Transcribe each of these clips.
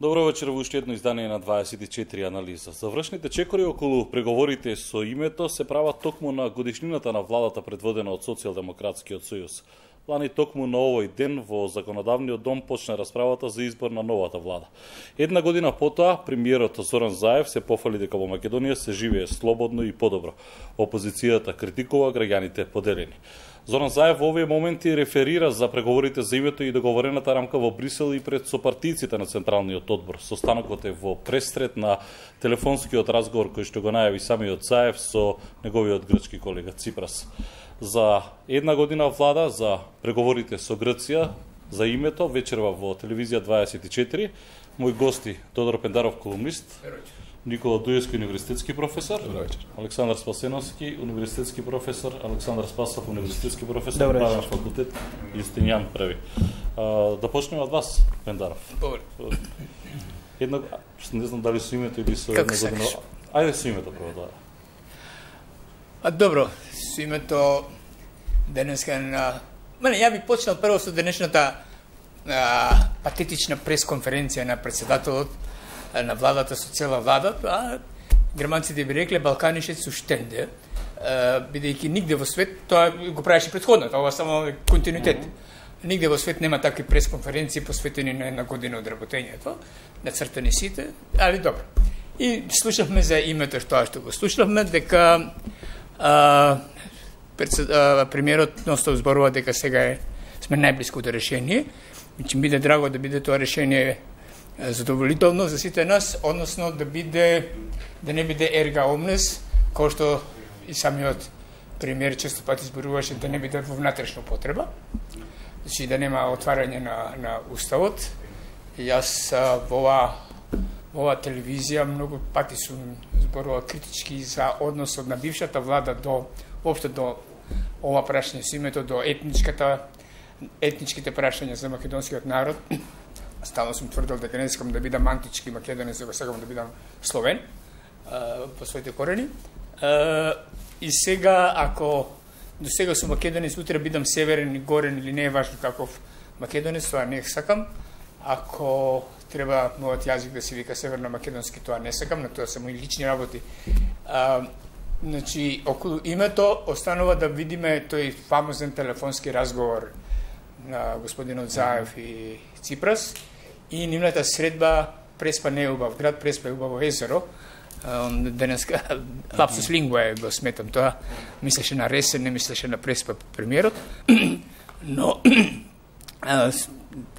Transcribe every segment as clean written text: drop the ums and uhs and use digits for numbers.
Добро вечер во уште едно издание на 24 анализа. Завршните чекори околу преговорите со името се прават токму на годишнината на владата предводена од Социјалдемократскиот сојуз. Лани токму на овој ден во Законодавниот дом почна расправата за избор на новата влада. Една година потоа, премиерот Зоран Заев се пофали дека во Македонија се живее слободно и подобро. Опозицијата критикува, граѓаните поделени. Зоран Заев во овие моменти реферира за преговорите за името и договорената рамка во Брисел и пред сопартијците на Централниот одбор. Состанокот е во престрет на телефонскиот разговор кој што го најави самиот Заев со неговиот грчки колега Ципрас. За една година влада за преговорите со Грција за името вечерва во телевизија 24. Мои гости Тодор Пендаров, колумнист, Никола Дуевски, универзитетски професор, Александар Спасеновски, универзитетски професор, Александар Спасов, универзитетски професор, правен факултет, Јустинијан Први. Да почнеме од вас, Пендаров. Една, не знам дали со името или со една година. Ајде со името прво, да. Добро, со името денеска на... Ја би почнал прво со денешната патетична пресконференција на председателот на владата, со цела влада, а германците би рекле Балканишет су штенде, бидејќи нигде во свет, тоа го правеше предходно, тоа само континуитет. Нигде во свет нема такви пресконференции посветени на една година од работењето, нацртани сите, али добро. И слушавме за името тоа што го слушавме, дека премиерот носта зборува дека сега сме најблиску до решение, и ќе биде драго да биде тоа решение задоволително за сите нас, односно да не биде ерга омнес, кој што и самиот премиер често пати зборуваше да не биде во внатрешна употреба, значи да нема отварање на уставот. Јас во ова телевизија многу пати сум зборувал критички за односот на бившата влада воопшто до ова прашање со името, до етничките прашања за македонскиот народ. Стално сум тврдел дека не искам да бидам антички македонец, дека сакам да бидам словен по своите корени. И сега, ако до сега сум македонец, утре бидам северен и горен или не е важно каков македонец, тоа не сакам. Ако треба мојот јазик да се вика северно-македонски, тоа не сакам, на тоа се мои лични работи. Значи, околу името останува да видиме тој фамозен телефонски разговор на господинот Заев и Ципрас и нивната средба Преспа не е убав град, Преспа е убаво езеро. Денеска лапсус лингва го сметам тоа. Мислеше на Ресен, не мислеше на Преспа премиерот. Но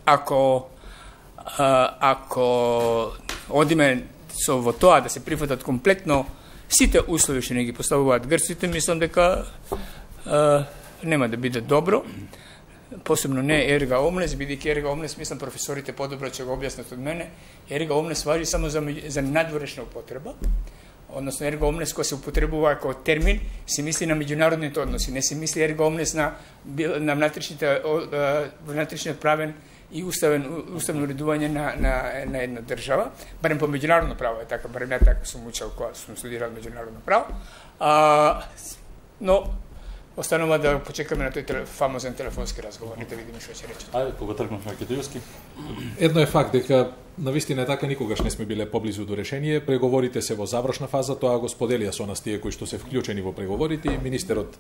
ако одиме во тоа да се прифатат комплетно сите услови што не ги поставуваат грците, мислам дека нема да биде добро. Посебно не ерга омнес, бидејќи ерга омнес, мислам професорите подобро ќе го објаснат од мене, ерга омнес важи само за надворешна употреба, односно ерга омнес која се употребува како термин, се мисли на меѓународните односи, не се мисли ерга омнес на внатрешниот правен и уставно уредување на една држава, барем по меѓународно право е така, барем ја така сум учел кога сум студирал меѓународно право, но останува да почекаме на тој фамозен телефонски разговор и да видиме што ќе речат. Ајде, кога тргнав Македонски. Едно е факт дека навистина така никогаш не сме биле поблизу до решение. Преговорите се во завршна фаза, тоа го споделија со нас тие кои што се вклучени во преговорите, и министерот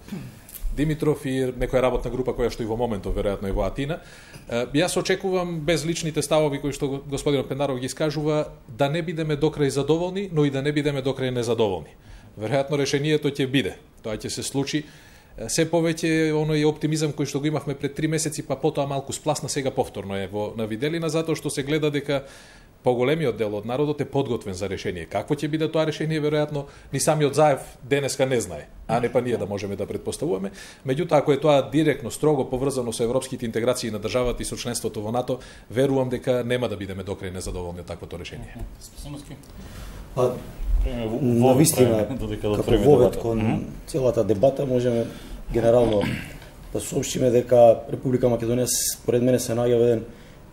Димитров и некоја работна група која што и во моментов веројатно е во Атина. Јас очекувам без личните ставови кои што господин Пендаров ги искажува да не бидеме докрај задоволни, но и да не бидеме докрај незадоволни. Веројатно решението ќе биде. Тоа ќе се случи. Се повеќе оној оптимизам кој што го имавме пред 3 месеци, па потоа малку спласна, сега повторно е на виделина, затоа што се гледа дека поголемиот дел од народот е подготвен за решение. Какво ќе биде тоа решение, веројатно ни самиот Заев денеска не знае, а не па ние да можеме да претпоставуваме. Меѓутоа, ако е тоа директно, строго поврзано со европските интеграции на државата и со членството во НАТО, верувам дека нема да бидеме докрај незадоволни од таквото решение. Навистина, како вовед кон целата дебата, можеме генерално да соопштиме дека Република Македонија според мене се наоѓа во еден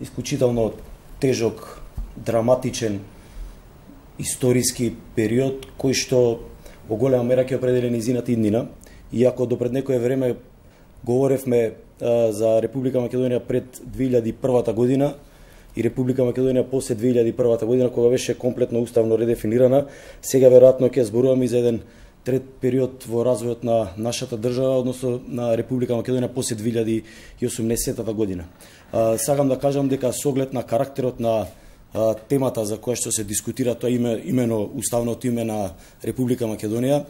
исклучително тежок, драматичен историски период кој што во голема мера ќе определи низината иднина. Иако допред некое време говоревме за Република Македонија пред 2001 година, и Република Македонија после 2001 година, кога беше комплетно уставно редефинирана. Сега веројатно ќе зборуваме и за еден трет период во развојот на нашата држава, односно на Република Македонија после 2018 година. Сакам да кажам дека со оглед на карактерот на темата за која што се дискутира, тоа имено уставното име на Република Македонија,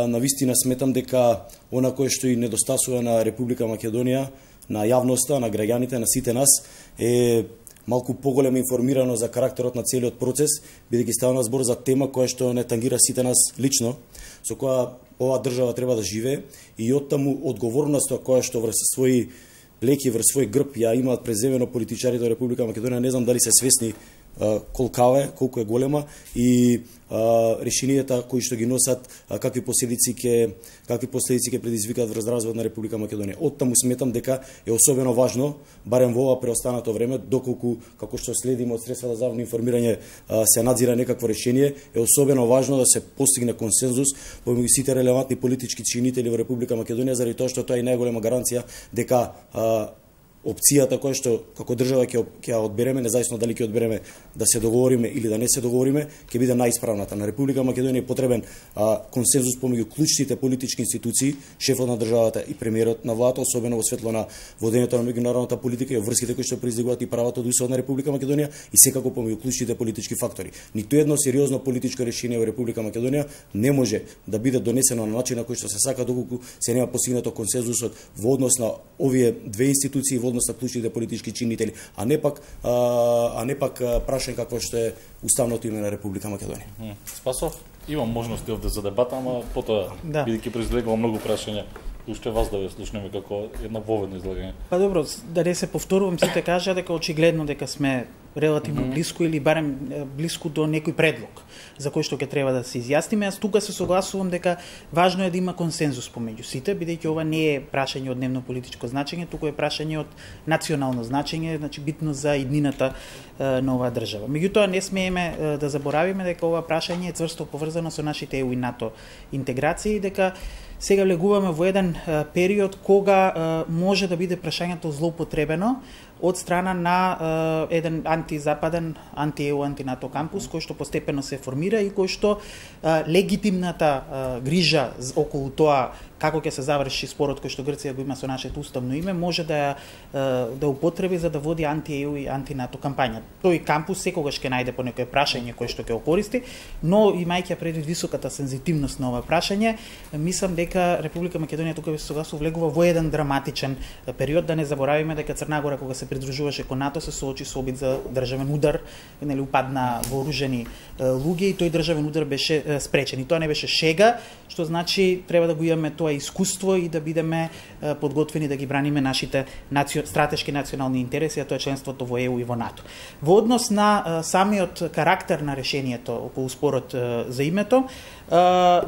навистина сметам дека она кое што и недостасува на Република Македонија, на јавноста, на граѓаните, на сите нас, е малку поголема информираност за карактерот на целиот процес, бидејќи става збор за тема која што не тангира сите нас лично, со која оваа држава треба да живее, и оттаму одговорноста која што врз своји леки, врз свој грб ја имаат преземено политичарите од Република Македонија, не знам дали се свесни колку е голема, и решенијата кои што ги носат какви последици ќе предизвикаат врз развојот на Република Македонија. Оттаму сметам дека е особено важно, барем во ова преостанато време, доколку како што следиме од средствата за јавно информирање се надзира некакво решение, е особено важно да се постигне консензус помеѓу сите релевантни политички чинители во Република Македонија, заради тоа што тоа е најголема гаранција дека опцијата која што како држава ќе одбереме, независно дали ќе одбереме да се договориме или да не се договориме, ќе биде најисправната. На Република Македонија е потребен консензус помеѓу клучните политички институции, шефот на државата и премиерот на владата, особено во светло на водењето на меѓународната политика и врските кои што произлегуваат и правото од Уставот на Република Македонија, и секако помеѓу клучните политички фактори. Ниту едно сериозно политичко решение во Република Македонија не може да биде донесено на начин на кој што се сака, доколку се нема постигнато консензусот во однос на овие две институции, во однос на клучните политички чинители, а не пак прашање какво што е уставното име на Република Македонија. Спасов, имам можности овде за дебата, ама потоа бидејќи произлегува многу прашања, уште вас да ве слушнеме како една воведно излагање. Па добро, да не се повторувам, сите кажа дека очигледно дека сме релативно близко или барем близко до некој предлог за кој што ќе треба да се изјасниме. Јас тука се согласувам дека важно е да има консензус помеѓу сите, бидејќи ова не е прашање од дневно политичко значење, туку е прашање од национално значење, значи битно за иднината на оваа држава. Меѓутоа не смееме да заборавиме дека ова прашање е цврсто поврзано со нашите ЕУ и НАТО интеграции, дека сега влегуваме во еден период кога може да биде прашањето злоупотребено од страна на еден антизападен, анти-ЕУ, анти-НАТО кампус, кој што постепено се формира и кој што легитимната грижа околу тоа како ќе се заврши спорот кој што Грција го има со нашето уставно име, може да употреби за да води анти-ЕУ и анти-НАТО кампања. Тој кампус секогаш ќе најде по некое прашање кој што ќе го користи, но имајќи предвид високата сензитивност на ова прашање, мислам дека Република Македонија тука се влегува во еден драматичен период. Да не заборавиме дека Црна Гора кога се придружуваше кон НАТО се соочи со обид за државен удар, нели упадна вооружени луѓе и тој државен удар беше спречен. И тоа не беше шега, што значи треба да го имаме тоа искуство и да бидеме подготвени да ги браниме нашите стратешки национални интереси, а тоа е членството во ЕУ и во НАТО. Во однос на самиот карактер на решението околу спорот за името,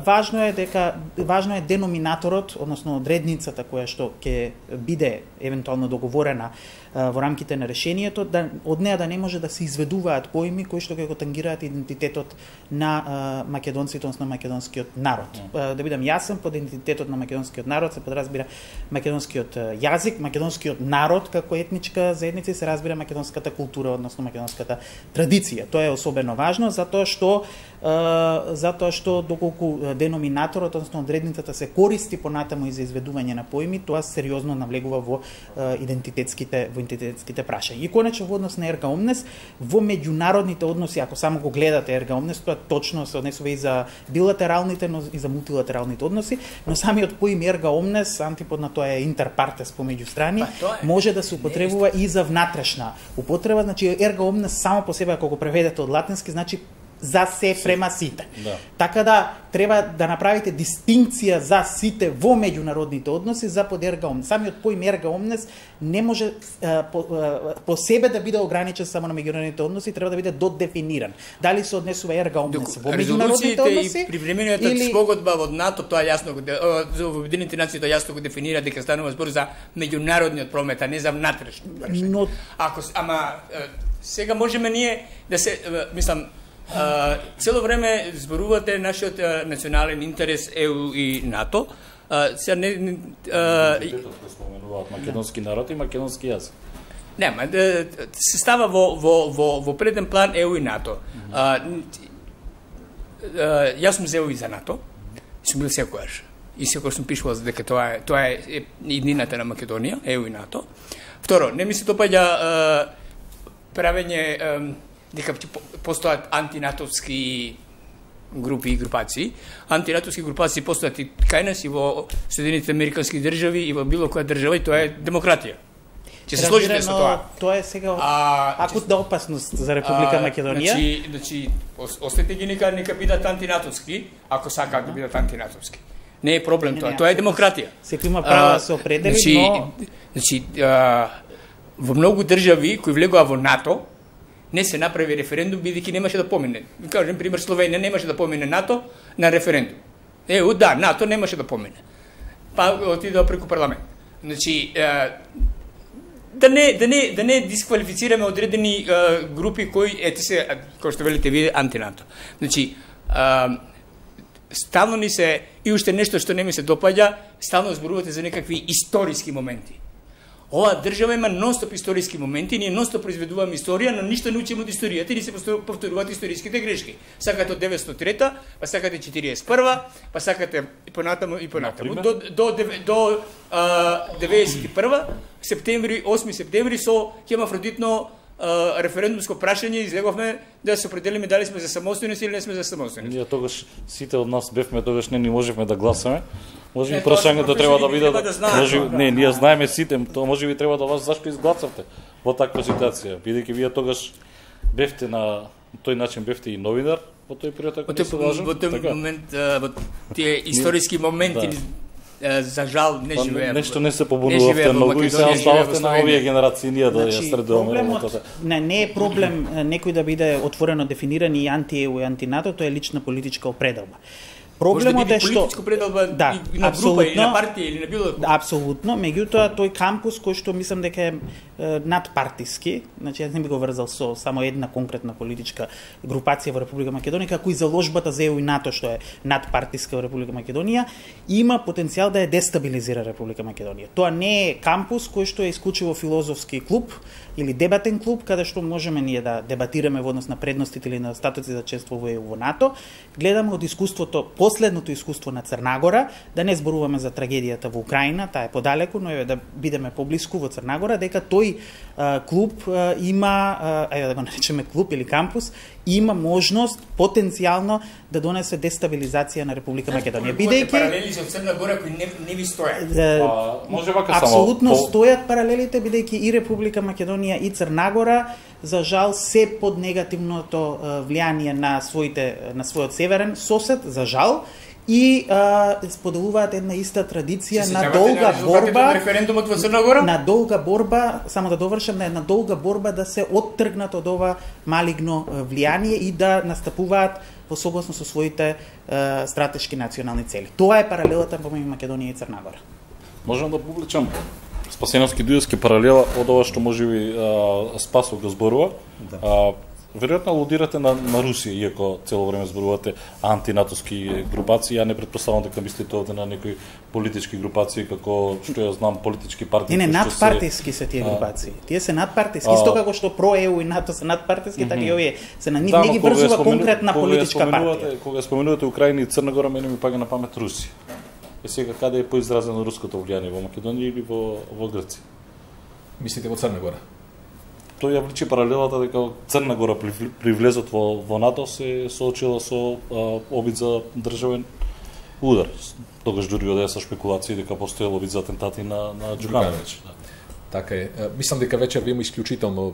важно е деноминаторот, односно одредницата која што ќе биде евентуално договорена во рамките на решението, да од неа да не може да се изведуваат поими кои што ќе го тангираат идентитетот на македонците, односно македонскиот народ. Да бидам јасен, под идентитетот на македонскиот народ се подразбира македонскиот јазик, македонскиот народ како етничка заедница и се разбира македонската култура, односно македонската традиција. Тоа е особено важно затоа што доколку деноминаторот, односно одредницата се користи понатаму и за изведување на поими, тоа сериозно навлегува во идентитетските прашања. И конечно во однос на Ерга Омнес, во меѓународните односи, ако само го гледате Ерга Омнес, тоа точно се однесува и за билатералните, но и за мултилатералните односи, но самиот поим Ерга Омнес, антипод на тоа е интерпартес помеѓу страни, може да се употребува и за внатрешна употреба, значи Ерга Омнес само по себе ако го преведете од латински, значи за се према сите. Да. Така да треба да направите дистинкција за сите во меѓународните односи за под Ерга Омнес. Самиот поим Ерга Омнес не може по себе да биде ограничен само на меѓународните односи, треба да биде додефиниран. Дали се однесува Ерга Омнес во меѓународните односи и привремениот спогодба од НАТО, тоа јасно за Обединените нации тоа јасно го дефинира дека станува збор за меѓународниот промет, а не за внатрешни. Но сега можеме ние да се мислам цело време зборувате нашиот национален интерес ЕУ и НАТО. Споменуваат македонски народ и македонски јазик. Нема, се става во преден план ЕУ и НАТО. Јас сум зел и за НАТО, и сум бил секојаш. И секојаш сум пишувал за дека тоа е иднината на Македонија, ЕУ и НАТО. Второ, не ми се допаѓа правење дека постојат антинатовски групи и групации. Антинатовски групации постојат и кај нас, и во Соединетите Американски држави, и во било која држава, и тоа е демократија. Ќе се сложите со тоа. Тоа е сега акутна опасност за Република Македонија. Значи, остете ги нека бидат антинатовски, ако сакаат да бидат антинатовски. Не е проблем тоа, тоа е демократија. Секој има право да се определи, но... Значи, во многу држави кои влегоа во НАТО, не се направи референдум, бидејќи немаше да помине. Ви кажем, пример, Словенија немаше да помине НАТО на референдум. Да, НАТО немаше да помине. Па отидоа преку парламент. Значи, да не дисквалифицираме одредени групи кои, кој што велите вие, антинато. Значи, стално ни се, и уште нешто што не ми се допаѓа, стално зборувате за некакви историски моменти. Оваа држава има нонстоп историски моменти, ние нонстоп произведуваме историја, но ништо не учиме од историјата и не се повторуваат историските грешки. Сакате од 903-та, па сакате 41-та, па сакате и понатаму. До 91-та, 8 септември со хемафродитно референдумско прашање излеговме да се определиме дали сме за самостојност или не сме за самостојност. Ние тогаш сите од нас бевме, тогаш не ни можевме да гласаме. Може би прашањето треба да биде ние знаеме сите, тоа може би треба да вас зашто изгласавте во таква ситуација, бидејќи вие тогаш бевте на тој начин бевте и новинар во тој период, ако не се лажам. Во тој момент, во тие историски моменти, за жал не живееме. Нешто не се побунувавте многу и се остававте на овие генерации ние да ја средуваме работата. Не е проблем некој да биде отворено дефиниран и анти-ЕУ и анти-НАТО, тоа е лична политичка определба. Проблемот е што политичко пределба и на група или на партија или на било кој. Апсолутно, меѓутоа тој кампус кој што мислам дека е надпартиски, значи јас не би го врзал со само една конкретна политичка групација во Република Македонија, како и заложбата за ЕУ и НАТО што е надпартиска во Република Македонија, има потенцијал да ја дестабилизира Република Македонија. Тоа не е кампус кој што е исклучиво филозофски клуб или дебатен клуб, каде што можеме ние да дебатираме во однос на предностите или недостатоци за членство во ЕУ во НАТО. Гледаме од искуството, последното искуство на Црнагора, да не зборуваме за трагедијата во Украина, таа е подалеку, но да бидеме поблиску во Црнагора, дека тој клуб има, ајде да го наречеме клуб или кампус, има можност потенцијално да донесе дестабилизација на Република Македонија. Бидејќи паралели со Црна Гора кои не ви стојат. Може вака само. Апсолутно стојат паралелите, бидејќи и Република Македонија и Црна Гора за жал се под негативното влијание на својот северен сосед, за жал, и споделуваат една иста традиција на долга борба, референдумот во Црна Гора, на долга борба, само да довршам, на една долга борба да се оттргнат од ова малигно влијание и да настапуваат во согласно со своите стратешки национални цели. Тоа е паралелата помеѓу Македонија и Црна Гора. Можам да публичам Спасеновски дујовски паралела од ова што можеби Спасов го зборува. Веројатно алудирате на Русија, иако цело време зборувате антинатовски групации, ја не претпоставам дека мислите овде на некои политички групации, како што ја знам политички партии. Не, надпартиски се тие групации. Тие се надпартиски, исто како што ПРО-ЕУ и НАТО се надпартиски, така и овие се на нив не ги врзува конкретна политичка партија. Кога споменувате Украина и Црна Гора, мене ми паѓа на памет Русија. Е сега каде е поизразено руското влијание, во Македонија или во Грција? Мислите во Црна Гора? Тој ја вличи паралелата дека Црна Гора при влезот во НАТО се соочила со обид за државен удар. Тогаш дури одеа со шпекулации дека постоел обид за атентати на Џукановиќ. Така е. Мислам дека вечер има исклучително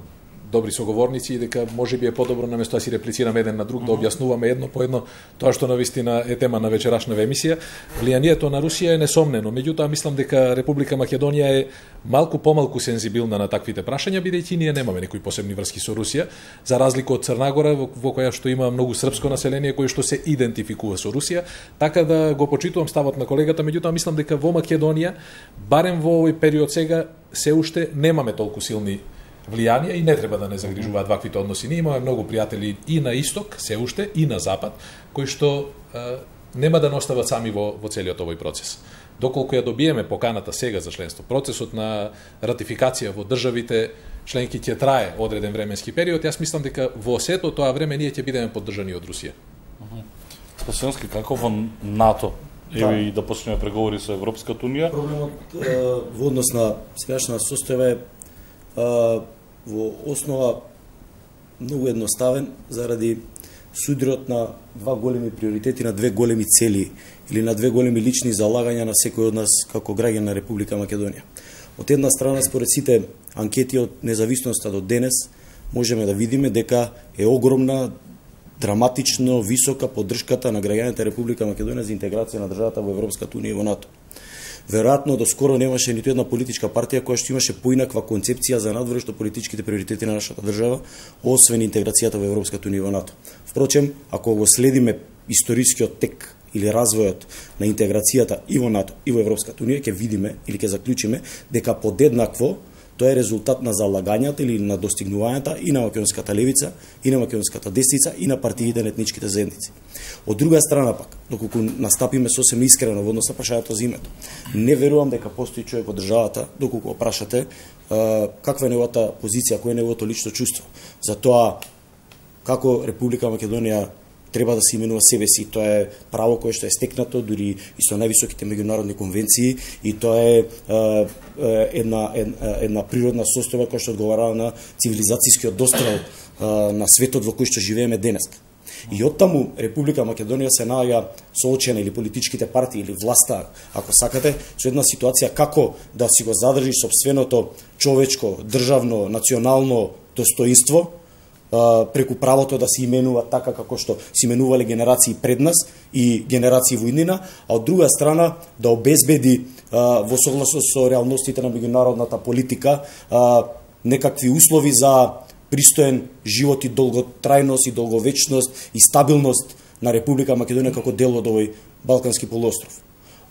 добри соговорници и дека можеби е подобро наместо да си реплицираме еден на друг, да објаснуваме едно по едно тоа што навистина е тема на вечерашната емисија. Влијанието на Русија е несомнено, меѓутоа мислам дека Република Македонија е малку помалку сензибилна на таквите прашања, бидејќи ние немаме некои посебни врски со Русија, за разлика од Црна Гора, во која што има многу српско население кое што се идентификува со Русија, така да го почитувам ставот на колегата, меѓутоа мислам дека во Македонија, барем во овој период сега, се уште немаме толку силни влијанија и не треба да не загрижуваат ваквите односи. Ние имаме многу пријатели и на исток, се уште, и на запад, кои што нема да не остават сами во целиот овој процес. Доколку ја добиеме поканата сега за членство, процесот на ратификација во државите членки ќе трае одреден временски период, јас мислам дека во сето тоа време ние ќе бидеме поддржани од Русија. Спасенски, како во НАТО? Еви да почнеме преговори со Европската унија? Проблемот во однос на сегашна состојба е во основа многу едноставен заради судрот на два големи приоритети, на две големи цели или на две големи лични залагања на секој од нас како граѓан на Република Македонија. Од една страна, според сите анкети од независноста до денес, можеме да видиме дека е огромна, драматично висока поддршката на граѓаните Република Македонија за интеграција на државата во Европската унија и во НАТО. Веројатно до скоро немаше ниту една политичка партија која што имаше поинаква концепција за надворешно политичките приоритети на нашата држава, освен интеграцијата во Европската унија и во НАТО. Впрочем, ако го следиме историскиот тек или развојот на интеграцијата и во НАТО и во Европската унија, ќе видиме или ќе заклучиме дека подеднакво тоа е резултат на залагањата или на достигнувањата и на македонската левица, и на македонската десница, и на партиите на етничките заедници. Од друга страна пак, доколку настапиме сосем искрено во однос на прашањето за името, не верувам дека постои човек во државата, доколку прашате каква е неговата позиција, кој е неговото лично чувство за тоа како Република Македонија треба да се именува себе си. Тоа е право кое што е стекнато дури и со највисоките меѓународни конвенции, и тоа е една природна состојба која што одговара на цивилизацијскиот дострел на светот во кој што живееме денес. И оттаму Република Македонија се наоѓа соочена, или политичките партии или власта, ако сакате, со една ситуација како да си го задржи сопственото човечко, државно, национално достоинство преку правото да се именува така како што се именувале генерации пред нас и генерации во иднина, а од друга страна да обезбеди во согласност со реалностите на меѓународната политика некакви услови за пристоен живот и долготрајност и долговечност и стабилност на Република Македонија како дел од овој Балкански полуостров.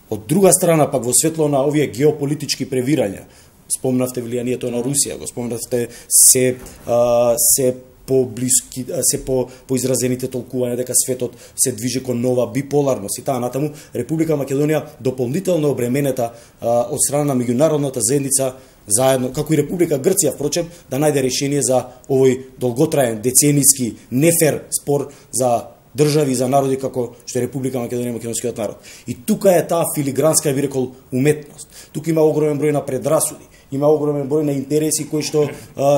Од друга страна пак во светло на овие геополитички превирања, спомнавте влијанието на Русија, го спомнавте се поблиски, се по изразените толкувања дека светот се движи кон нова биполарност и таа натаму, Република Македонија дополнително обременета од страна на меѓународната заедница, заедно, како и Република Грција, впрочем, да најде решение за овој долготраен, деценијски, нефер спор за држави и за народи како што е Република Македонија и македонскиот народ. И тука е таа филигранска, би рекол, уметност. Тука има огромен број на предрасуди, има огромен број на интереси кои што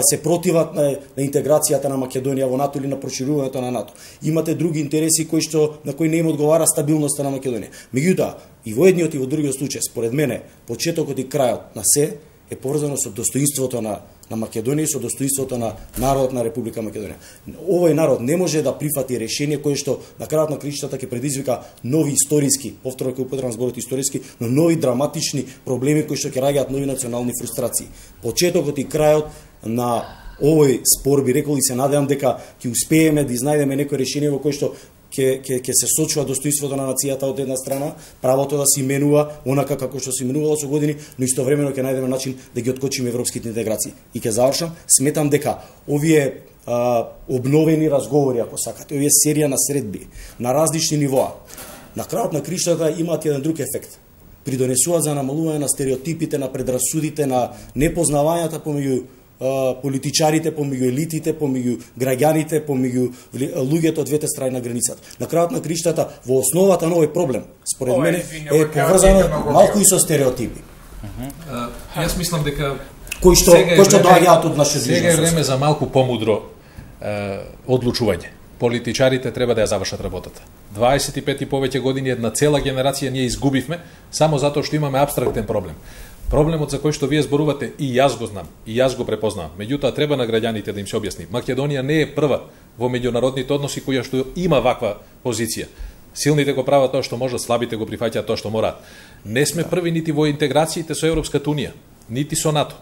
се противат на интеграцијата на Македонија во НАТО или на проширувањето на НАТО. Имате други интереси на кои не им одговара стабилноста на Македонија. Меѓутоа, и во едниот и во другиот случај, според мене, почетокот и крајот на се е поврзано со достоинството на Македонија и со достоинството на народот на Република Македонија. Овој народ не може да прифати решение кое што на крајот на краиштата ќе предизвика нови историски, повторно ќе употребам зборот историски, но нови драматични проблеми кои што ќе раѓаат нови национални фрустрации. Почетокот и крајот на овој спор, би рекол, и се надевам дека ќе успееме да изнајдеме некој решение во кое што ќе се сочува достоинството на нацијата од една страна, правото да се именува онака како што се именувало со години, но истовремено ќе најдеме начин да ги откочиме европските интеграции. И ќе завршам, сметам дека овие обновени разговори, ако сакате, овие серија на средби на различни нивоа, на крајот на криштата имаат еден друг ефект. Придонесуваат за намалување на стереотипите, на предрасудите, на непознавањата помеѓу политичарите, помеѓу елитите, помеѓу граѓаните, помеѓу луѓето од двете страни на границата. На крајот на криштата, во основата на овој проблем, според мене, е поврзано малку и со стереотипи. Јас мислам дека кои што доаѓаат од нашето движење. Сега е време за малку помудро одлучување. Политичарите треба да ја завршат работата. 25 и повеќе години, една цела генерација ние изгубивме само затоа што имаме апстрактен проблем. Проблемот за кој што вие зборувате, и јас го знам, и јас го препознавам. Меѓутоа треба на граѓаните да им се објасни. Македонија не е прва во меѓународните односи која што има ваква позиција. Силните го прават тоа што можат, слабите го прифаќаат тоа што мораат. Не сме први нити во интеграциите со Европската унија, нити со НАТО.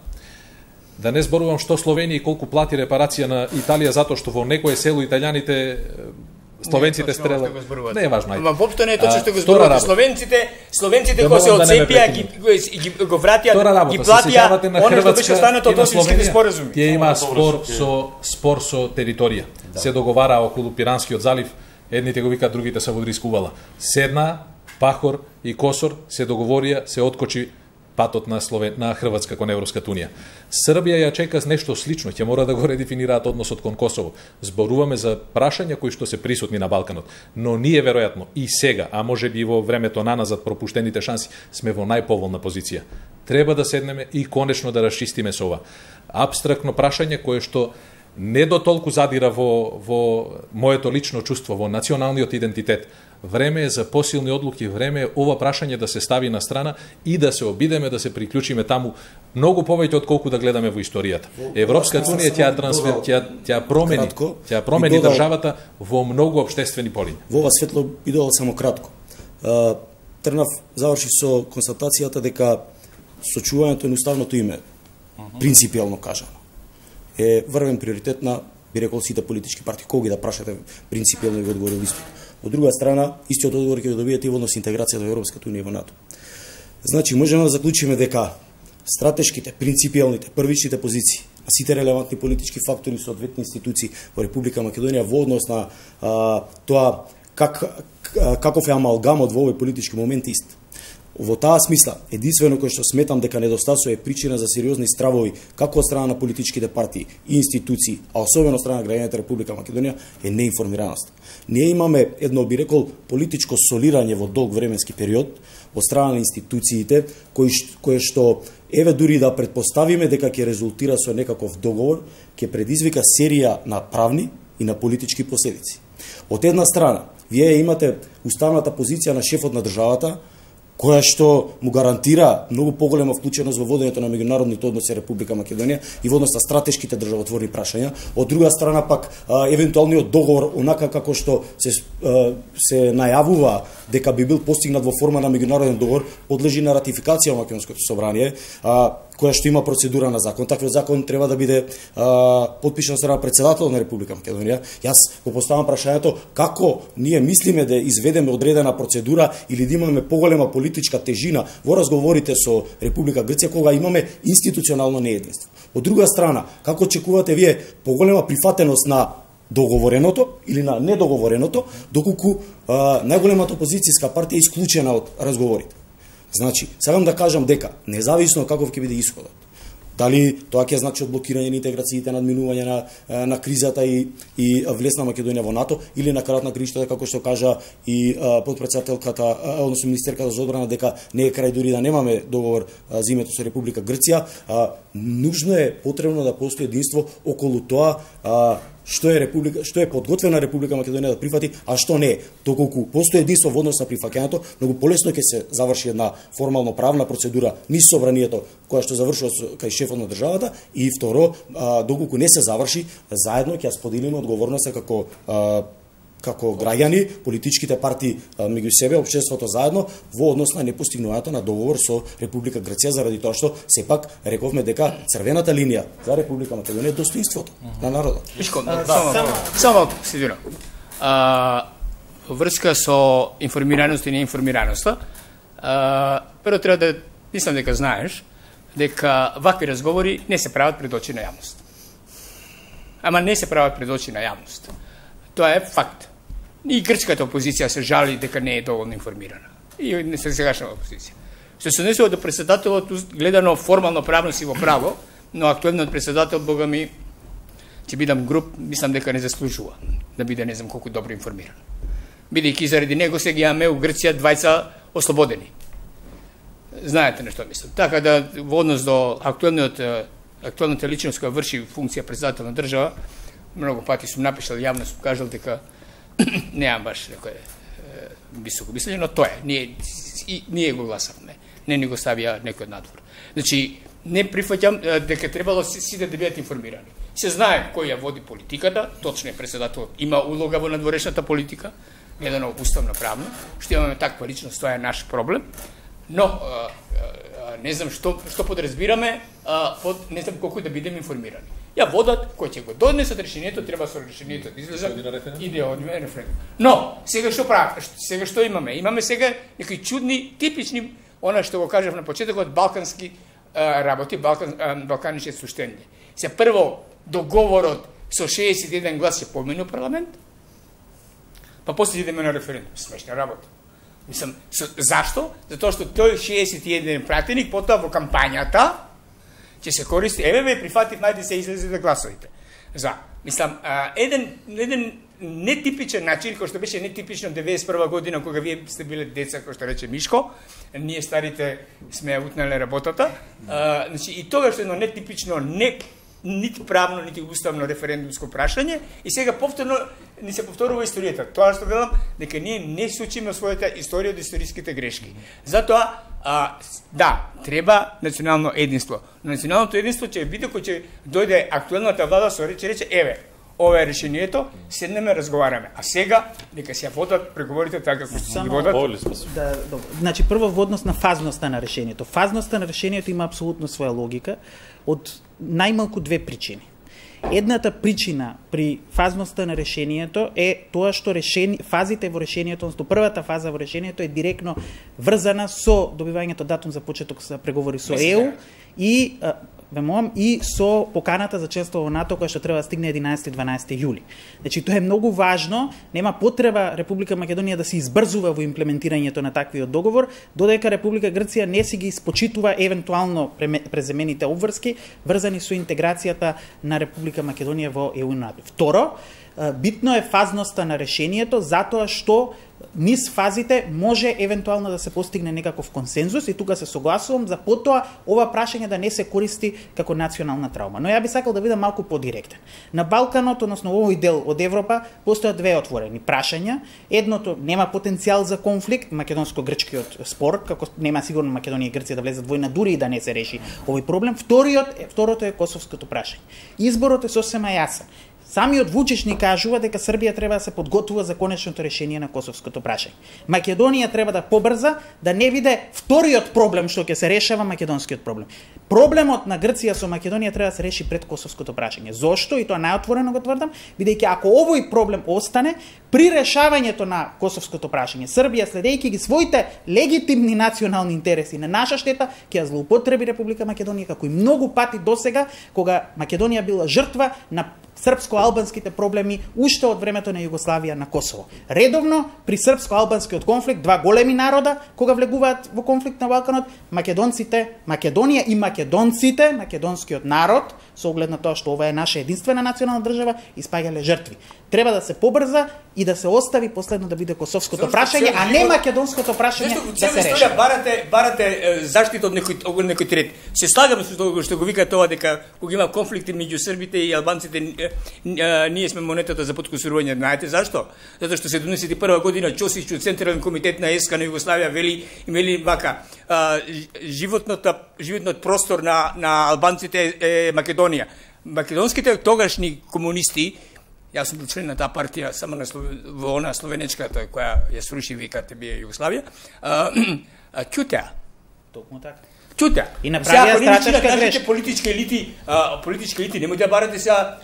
Да не зборувам што Словенија и колку плати репарација на Италија затоа што во некое село италијаните словенците стрелат. Не е важно. Ама воопшто не е точно што го зборувате. Словенците кога се отцепија ги го вратија, ги платија оно што беше останато од Освинските споразуми. Тие има спор со територија. Се договара околу Пиранскиот залив, едните го викаат, другите се во Дрискувала. Седна Пахор и Косор се договорија, се откочи патот на Хрватска кон Европската унија. Србија ја чека нешто слично, ќе мора да го редефинираат односот кон Косово. Зборуваме за прашања кои што се присутни на Балканот, но ние веројатно и сега, а може би во времето наназад пропуштените шанси, сме во најповолна позиција. Треба да седнеме и конечно да расчистиме со ова апстрактно прашање кое што не до толку задира во моето лично чувство, во националниот идентитет. Време е за посилни одлуки, време е ова прашање да се стави на страна и да се обидеме да се приклучиме таму многу повеќе од колку да гледаме во историјата. Европската унија ќе промени државата во многу општествени полиња. Во ова светло би додал само кратко. Трнав завршив со констатацијата дека сочувањето на уставното име, принципијално кажано, е врвен приоритет на, би рекол, сите политички партии. Кога ги да прашате, принципијално ви одговорил исто. Од друга страна, истиот одговор ќе го добиете и во однос интеграцијата во Европската унија и во НАТО. Значи, можеме да заклучиме дека стратешките, принципијалните, првичните позиции на сите релевантни политички фактори и соодветни институции во Република Македонија во однос на тоа каков е амалгамот во овој политички момент ист. Во таа смисла, единствено кој што сметам дека недостасува е причина за сериозни стравови како од страна на политичките партии и институции, а особено од страна на граѓаните Република Македонија, е неинформираност. Ние имаме едно, би рекол, политичко солирање во долг временски период од страна на институциите, кое што еве дури да предпоставиме дека ќе резултира со некаков договор, ќе предизвика серија на правни и на политички последици. Од една страна, вие имате уставната позиција на шефот на државата, која што му гарантира многу поголема вклученост во водењето на меѓународните односи Република Македонија и во однос на стратешките државотворни прашања. Од друга страна пак евентуалниот договор, онака како што се најавува дека би бил постигнат во форма на меѓународен договор, подлежи на ратификација во Македонското собрание, која што има процедура на закон. Таков закон треба да биде потпишан од страна председател на Република Македонија. Јас го поставам прашањето како ние мислиме да изведеме одредена процедура или да имаме поголема политичка тежина во разговорите со Република Грција кога имаме институционално неединство. Од друга страна, како очекувате вие поголема прифатеност на договореното или на недоговореното, доколку најголемата опозицијска партија е исклучена од разговорите. Значи, сакам да кажам дека, независно каков ќе биде исходот, дали тоа ќе значи одблокирање на интеграциите, надминување на кризата и влез на Македонија во НАТО, или на крајот на кришта, како што кажа и подпредседателката, односно министерката за одбрана, дека не е крај дури да немаме договор за името со Република Грција, нужно е потребно да постои единство околу тоа што е подготвена Република Македонија да прифати, а што не е. Доколку постои единство во однос на прифаќањето, многу полесно ќе се заврши една формално правна процедура низ собранието која што завршува кај шефот на државата, и второ, доколку не се заврши, заедно ќе споделиме одговорноста како граѓани, политичките партии меѓу себе, општеството заедно, во однос на непостигнувањето на договор со Република Грција, заради тоа што сепак рековме дека црвената линија за Република Македонија е достоинството на народот. Само Сидино. Врска со информираност и неинформираноста, прво треба да, мислам дека знаеш, дека вакви разговори не се прават пред очи на јавност. Ама не се прават пред очи на јавност. Тоа е факт. И грчката опозиција се жали дека не е доволно информирана. И не се сегашна опозиција. Што се однесува до председателот, гледано формално правно си во право, но актуелниот председател, бога ми, ќе бидам груб, мислам дека не заслужува да биде не знам колку добро информиран. Бидејќи заради него сега имаме у Грција двајца ослободени. Знаете на што мислам. Така да во однос до актуелната личност која врши функција председател на држава, многу пати сум напишал јавно, сум кажал дека неам баш некој високо мислење, но тоа е. Ние го гласавме. Не ни го ставија некој од надвор. Значи, не прифаќам дека требало сите да бидат информирани. Се знае кој ја води политиката, точно е председател, има улога во надворешната политика, гледано уставно правно, што имаме таква личност, тоа е наш проблем, но не знам што подразбираме под не знам колку да бидеме информирани. Ја водат, кој ќе го донесат решението, треба со решението да излезат и да одиме на референдум. Но, сега што правиме? Сега што имаме? Имаме сега некои чудни, типични, она што го кажав на почетокот, балкански работи, балканички суштење. Се прво договорот со 61 глас се помени у парламент, па после идеме на референдум. Смешна работа. Мислам, зашто? Затоа што тој 61 пратеник потоа во кампањата ќе се користи, прифатив, најде се излезе да гласовите. Мислам, еден нетипичен начин, кој што беше нетипично 91 година, кога вие сте биле деца, кој што рече Мишко, ние старите сме ја утнале работата, и тогаш едно нетипично, нити правно, нити уставно референдумско прашање, и сега повторно ни се повторува историјата. Тоа што велам, дека ние не се учиме својата историја од историските грешки. Затоа, да, треба национално единство. Но националното единство ќе биде кој ќе дојде актуелната влада, ќе рече, ова е решението, седнеме, разговараме. А сега, нека се водат преговорите така како се ги водат. Значи, прво во однос на фазноста на решението. Фазноста на решението има апсолутно своја логика од најмалку две причини. Едната причина при фазноста на решението е тоа што фазите во решението, односно првата фаза во решението е директно врзана со добивањето датум за почеток за преговори со ЕУ и со поканата за членство во НАТО која што треба да стигне 11-12 јули. Значи тоа е многу важно, нема потреба Република Македонија да се избрзува во имплементирањето на таквиот договор, додека Република Грција не си ги испочитува евентуално преземените обврски врзани со интеграцијата на Република Македонија во ЕУ и НАТО. Второ, битно е фазноста на решението затоа што низ фазите може евентуално да се постигне некаков консензус и тука се согласувам за потоа ова прашање да не се користи како национална траума. Но ја би сакал да бидам малку подиректен. На Балканот, односно овој дел од Европа, постојат две отворени прашања. Едното нема потенцијал за конфликт, македонско-грчкиот спор, како нема сигурно Македонија и Грција да влезат војна дури и да не се реши овој проблем. Второто е косовското прашање. Изборот е сосема јасен. Самиот Вучич ни кажува дека Србија треба да се подготвува за конечното решение на косовското прашање. Македонија треба да побрза, да не биде вториот проблем што ќе се решава македонскиот проблем. Проблемот на Грција со Македонија треба да се реши пред косовското прашање. Зошто? И тоа најотворено го тврдам, бидејќи ако овој проблем остане, при решавањето на косовското прашање, Србија следејќи ги своите легитимни национални интереси на наша штета, ќе ја злоупотреби Република Македонија како и многу пати досега, кога Македонија била жртва на српско-албанските проблеми уште од времето на Југославија на Косово. Редовно при српско-албанскиот конфликт, два големи народа кога влегуваат во конфликт на Балканот, Македонија и македонците, македонскиот народ, со оглед на тоа што ова е наша единствена национална држава, испаѓале жртви. Треба да се побрза и да се остави последно да биде косовското прашање, а не македонското прашање да се реши. Барате заштита од некој трет. Се слагам со тоа што го вика тоа дека кога има конфликти меѓу србите и албанците, ние сме монетата за подкусурување. Знаете зашто? Затоа што 71 година Чосич од Централен комитет на СК на Југославија вели вака: животниот простор на албанците е Македонија. Македонските тогашни комунисти, јас сум член на таа партија само во она словенечката која ја сруши ВКТБ Југославија, ќутеа. Токму така. Ќутеа. И направија стратешка грешка. Политички елити немој да барате сега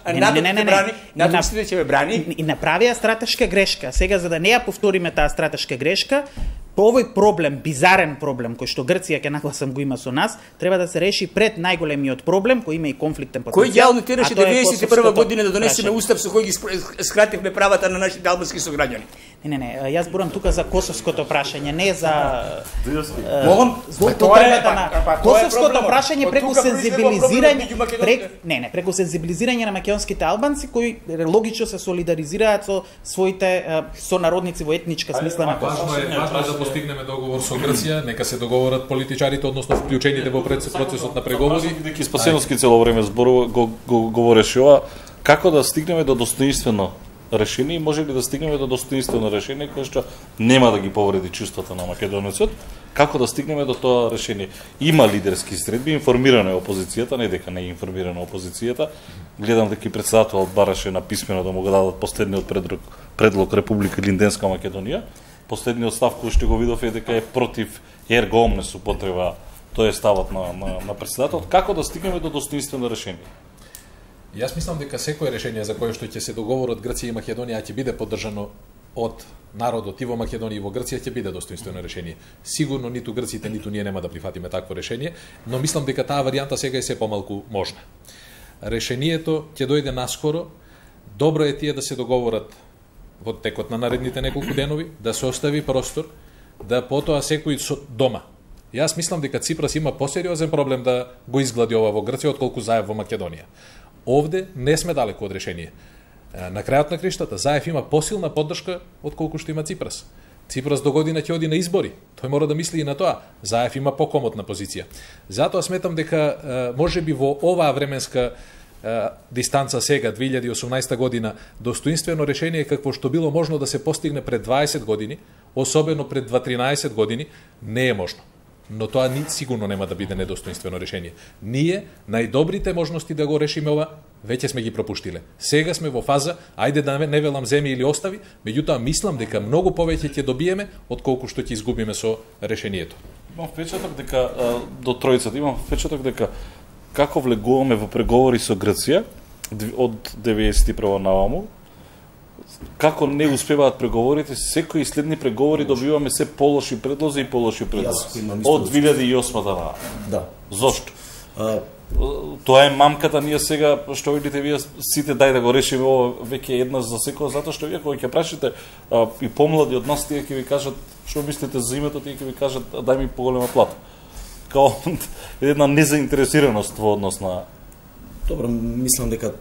натовските ќе ве брани. И направија стратешка грешка. Сега за да не ја повториме таа стратешка грешка, по овој проблем, бизарен проблем кој што Грција ќе нагласам го има со нас, треба да се реши пред најголемиот проблем кој има и конфликтен потенцијал. Кој јавно тераше 91 година да донесеме устав со кој ги скративме правата на нашите албански сограѓани? Не, јас зборам тука за косовското прашање, не за злоупотребата на косовското прашање преку сензибилизирање, преку сензибилизирање на македонските албанци кои логично се солидаризираат со своите сонародници во етничка смисла на Косово. Важно е да постигнеме договор со Грција, нека се договорат политичарите, односно вклучените во процесот на преговори. Бидејќи Спасеновски цело време зборува го говореше ова, како да стигнеме до достоинствено решение и може ли да стигнеме до достоинствено решение кое што нема да ги повреди чувствата на македонецот, како да стигнеме до тоа решение? Има лидерски средби, информирана е опозицијата, не дека не е информирана опозицијата. Гледам дека и председателот бараше на писмено да му го дадат последниот предлог Република Линденска Македонија. Последниот став кој што го видов е дека е против ерго омнес употреба, тоа е ставот на председателот. Како да стигнеме до достоинствено решение? Јас мислам дека секое решение за кое што ќе се договорат Грција и Македонија ќе биде поддржано од народот и во Македонија и во Грција ќе биде достоинствено решение. Сигурно ниту грците, ниту ние нема да прифатиме такво решение, но мислам дека таа варијанта сега е се помалку можна. Решението ќе дојде наскоро. Добро е тие да се договорат во текот на наредните неколку денови, да се остави простор да потоа секој со дома. Јас мислам дека Ципрас има посериозен проблем да го изглади ова во Грција отколку Заев во Македонија. Овде не сме далеку од решение. На крајот на криштата Заев има посилна поддршка отколку што има Ципрас. Ципрас до година ќе оди на избори. Тој мора да мисли и на тоа. Заев има покомотна позиција. Затоа сметам дека можеби во оваа временска дистанца сега, 2018 година, достоинствено решение какво што било можно да се постигне пред 20 години, особено пред 13 години, не е можно. Но тоа сигурно нема да биде недостоинствено решение. Ние, најдобрите можности да го решиме ова, веќе сме ги пропуштиле. Сега сме во фаза, ајде да не велам земи или остави, меѓутоа мислам дека многу повеќе ќе добиеме отколку што ќе изгубиме со решението. Имам впечаток дека до тројцата имам впечаток дека како влегуваме во преговори со Грција од 91 наваму, како не успеваат преговорите, секои следни преговори добиваме се полоши предлози и полоши предлози. Од 2008 на. Да. Зошто? Тоа е мамката, ние сега, што видите вие сите, дај да го решиме ова веќе еднаш за секој, затоа што вие кога ќе прашите и помлади од нас, тие ќе ви кажат што мислите за името, тие ќе ви кажат дај ми поголема плата. Као една незаинтересираност во однос на... Добро, мислам дека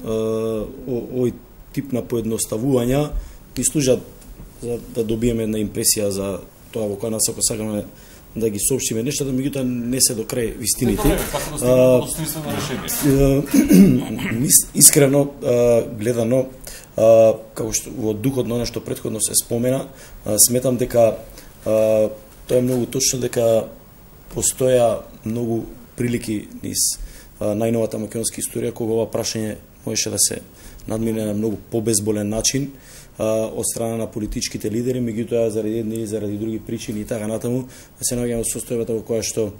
овој тип на поедноставувања ни служат за да добиеме една импресија за тоа во која насока сакаме да ги соопштиме нешто, да меѓутоа не се до крај вистините. Искрено гледано, како што во духот на она што претходно се спомена, сметам дека тоа е многу точно, дека постоја многу прилики низ најновата македонска историја кога ова прашање можеше да се надмине на многу побезболен начин од страна на политичките лидери, меѓутоа заради едни или заради други причини и така натаму се наоѓаме во состојбата во која што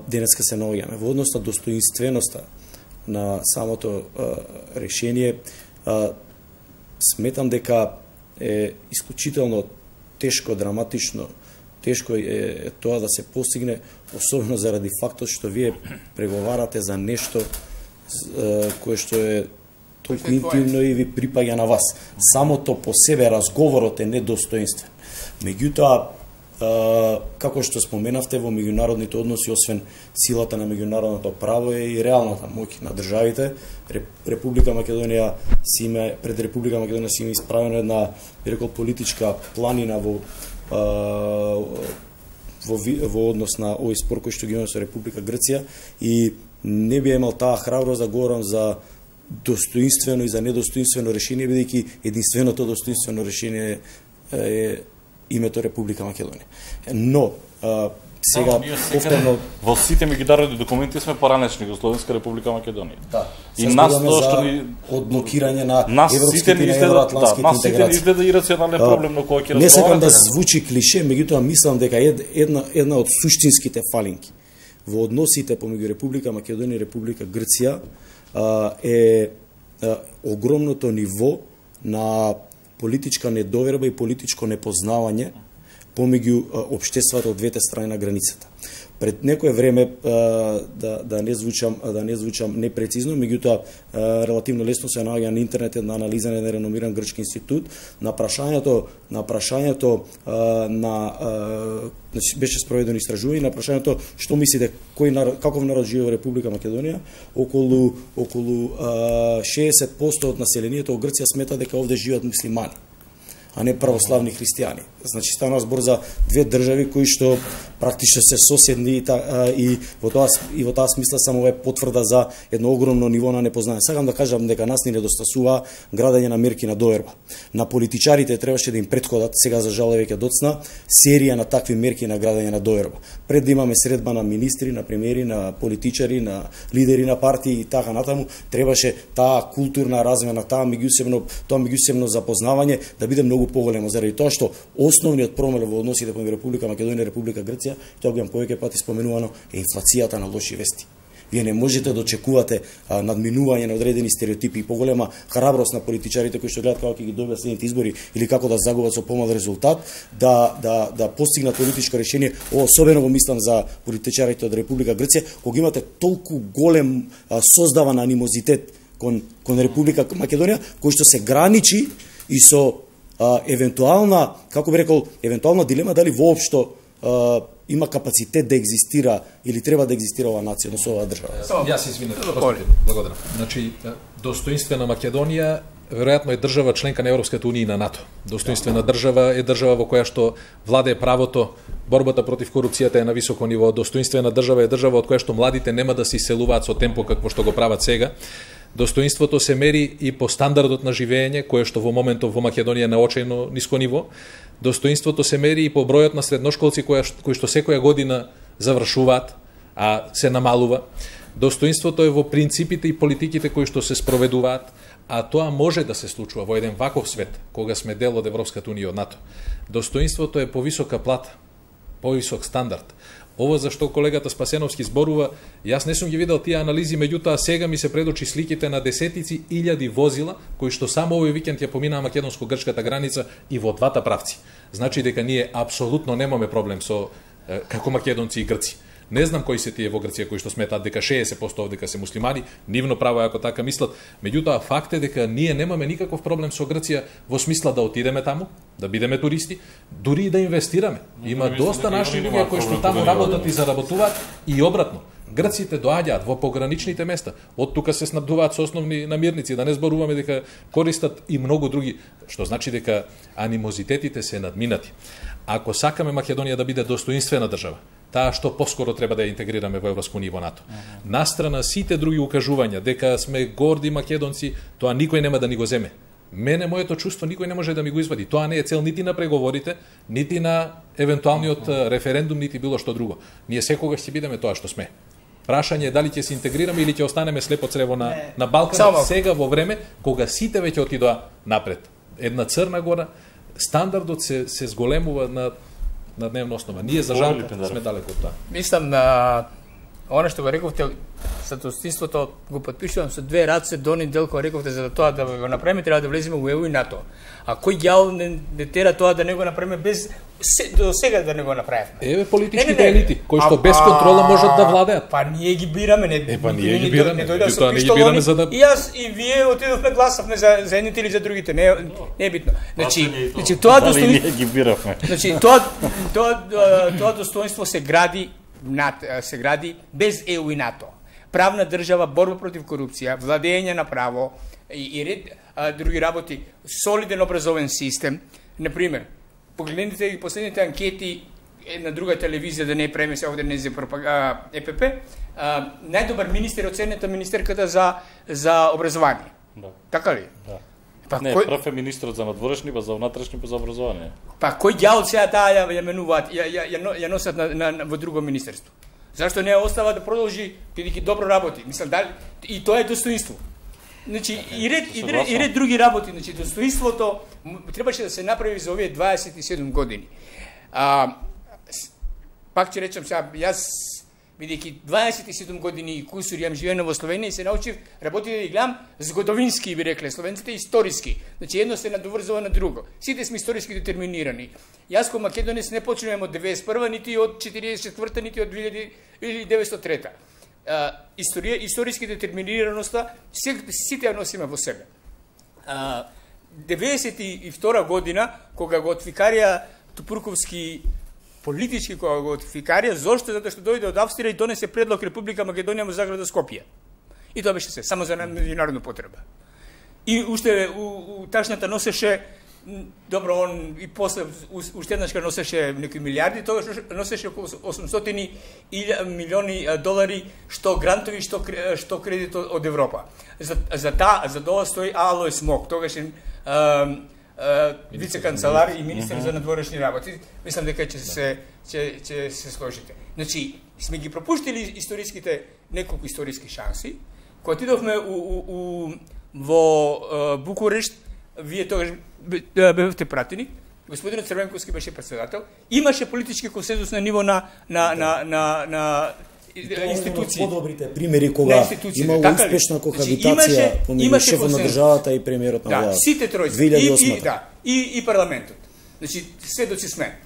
денеска се наоѓаме. Во однос на достоинственоста на самото решение, сметам дека е исклучително тешко, драматично, тешко е тоа да се постигне, особено заради фактот што вие преговарате за нешто кое што е толку интимно и ви припаѓа на вас. Самото по себе разговорот е недостоинствен. Меѓутоа, како што споменавте, во меѓународните односи, освен силата на меѓународното право е и реалната моќ на државите. Република Македонија си има, пред Република Македонија си има исправена една, би рекол, политичка планина во однос на овој спор кој што ги имаме со Република Грција и не би имал таа храброст да говорам за достоинствено и за недостоинствено решение, бидејќи единственото достоинствено решение е името Република Македонија. Но сега повторно во сите меѓународни документи сме поранешни Југословенска Република Македонија. Да. И нас тоа што ни одблокирање на европските и евроатлантските интеграции. Нас сите изгледа ирационален проблем на кој ќе разговараме. Не сакам да звучи клише, меѓутоа мислам дека една од суштинските фалинки во односите помеѓу Република Македонија и Република Грција е огромното ниво на политичка недоверба и политичко непознавање помеѓу општествата од двете страни на границата. Пред некое време да не звучам непрецизно, меѓутоа релативно лесно се наоѓа на интернет една анализа на еден реномиран грчки институт на прашањето значи беше спроведено истражување на прашањето што мислите каков народ живее во Република Македонија, околу 60% од населението во Грција смета дека овде живеат муслимани, а не православни христијани. Значи станува збор за две држави кои што практично се соседни и во таа смисла само е потврда за едно огромно ниво на непознање. Сакам да кажам дека нас ни недостасува градење на мерки на доверба. На политичарите требаше да им претходат, сега за жал веќе доцна, серија на такви мерки на градење на доверба. Пред да имаме средба на министри, на премиери, на политичари, на лидери на партии и така натаму, требаше таа културна размена, тоа меѓусебно запознавање да биде многу поголемо, заради тоа што основниот проблем во односите помеѓу Република Македонија и Република Грција, тоа го имам повеќе пати споменувано, е инфлацијата на лоши вести. Вие не можете да очекувате надминување на одредени стереотипи и поголема храброст на политичарите кои што гледат како ќе ги добијат следните избори или како да загубат со помал резултат, да постигнат политичко решение, особено го мислам за политичарите од Република Грција, кога имате толку голем создаван анимозитет кон Република Македонија, кој што се граничи и со евентуална, како би рекол, евентуална дилема дали воопшто има капацитет да екзистира или треба да екзистира оваа нација, односно оваа држава. Јас извинете, благодарам. Значи, достоинствена Македонија веројатно е држава членка на Европската унија и на НАТО. Достоинствена држава е држава во која што владее правото, борбата против корупцијата е на високо ниво. Достоинствена држава е држава од која што младите нема да се иселуваат со темпо какво што го прават сега. Достоинството се мери и по стандардот на живење, кое што во моментов во Македонија е на очајно ниско ниво. Достоинството се мери и по бројот на средношколци кои што секоја година завршуваат, а се намалува. Достоинството е во принципите и политиките кои што се спроведуваат, а тоа може да се случува во еден ваков свет, кога сме дел од Европската унија и од НАТО. Достоинството е повисока плата, повисок стандард. Ова зашто колегата Спасеновски зборува, јас не сум ги видел тие анализи, меѓутоа сега ми се предочи сликите на десетици илјади возила кои што само овој викенд ја поминаа македонско-грчката граница и во двата правци. Значи дека ние апсолутно немаме проблем со како македонци и грци. Не знам кои се тие во Грција кои што сметаат дека 60% овдека се муслимани, нивно право ако така мислат, меѓутоа факт е дека ние немаме никаков проблем со Грција во смисла да отидеме таму, да бидеме туристи, дури и да инвестираме. Има доста наши луѓе кои што таму работат и заработуваат и обратно. Грците доаѓаат во пограничните места, од тука се снабдуваат со основни намирници, да не зборуваме дека користат и многу други, што значи дека анимозитетите се надминати. Ако сакаме Македонија да биде достоинствена држава, таа што поскоро треба да ја интегрираме во Европско ниво НАТО. Настрана сите други укажувања дека сме горди македонци, тоа никој нема да ни го земе. Мене моето чувство никој не може да ми го извади. Тоа не е цел нити на преговорите, нити на евентуалниот референдум, нити било што друго. Ние секогаш ќе бидеме тоа што сме. Прашање е дали ќе се интегрираме или ќе останеме слепо црево на Балканот сега во време кога сите веќе отидоа напред. Една Црна Гора, стандардот се зголемува на дневна основа. Ние за жал сме далеко од тоа. Мислам она што го рековте за достоинството го потпишувам со две раце Дони Делко рековте за тоа да го направиме треба да влеземе во ЕУ и НАТО. А кој ѓал не тера тоа да не го направиме без до сега да не го направиме? Еве политичките елити кои што без контрола можат да владеат. Па ние ги бираме, не. Па ние ги бираме, тоа не ги бираме за да и јас и вие отидовме гласавме за едните или за другите, не е битно. Значи тоа достоинство ги бираме. Значи тоа достоинство се гради без ЕУ и НАТО. Правна држава, борба против корупција, владење на право и ред други работи, солиден образовен систем. Например, погледнете и последните анкети на друга телевизија, да не преме се овде не за ЕПП, најдобар министер оценета министерката за образование. Да. Така ли? Да. Не, прв е министрот за надворешни, па за внатрешни, па за образование. Па кој ѓал сега таа ја менуваат, ја носат во друго министерство? Зашто не ја остава да продолжи, бидејќи добро работи? Мислам, и тоа е достоинство. Значи, и ред други работи. Значи, достоинството требаше да се направи за овие 27 години. Пак ќе речам сега, јас бидејќи 27 години и кусур јам живеено во Словенија и се научив работи да ги гледам згодовински, би рекле, словенците историски. Значи едно се надоврзува на друго. Сите сме историски детерминирани. Јас кој македонец не почнувам од 91-та, нити од 44-та, нити од 1903-та. Историски детерминираноста сите ја носиме во себе. 92 година кога го отвикарија Тупурковски политички кога го отфикарија, зошто? Затоа што дојде од Австрија и донесе предлог Република Македонија во Заграда Скопје. И тоа беше се, само за меѓународна потреба. И уште у ташната носеше, добро, он и после уште еднашка носеше некои милиарди, тогаш носеше околу 800 милиони долари, што грантови, што кредит од Европа. За тоа стои Алојс Мок, тогаш вице-канцелар и министер за надворешни работи. Мислам дека ќе се сложите. Значи, сме ги пропуштили историските, неколку историски шанси. Кога отидовме во Букурешт, вие тогаш бевте пратени, господинот Црвенковски беше председател, имаше политички консензус на ниво на институции. Подобрите примери кога имало успешна кохабитација помеѓу шефот на државата и премиерот на владата. Сите тројци и парламентот. Значи сведоци сме.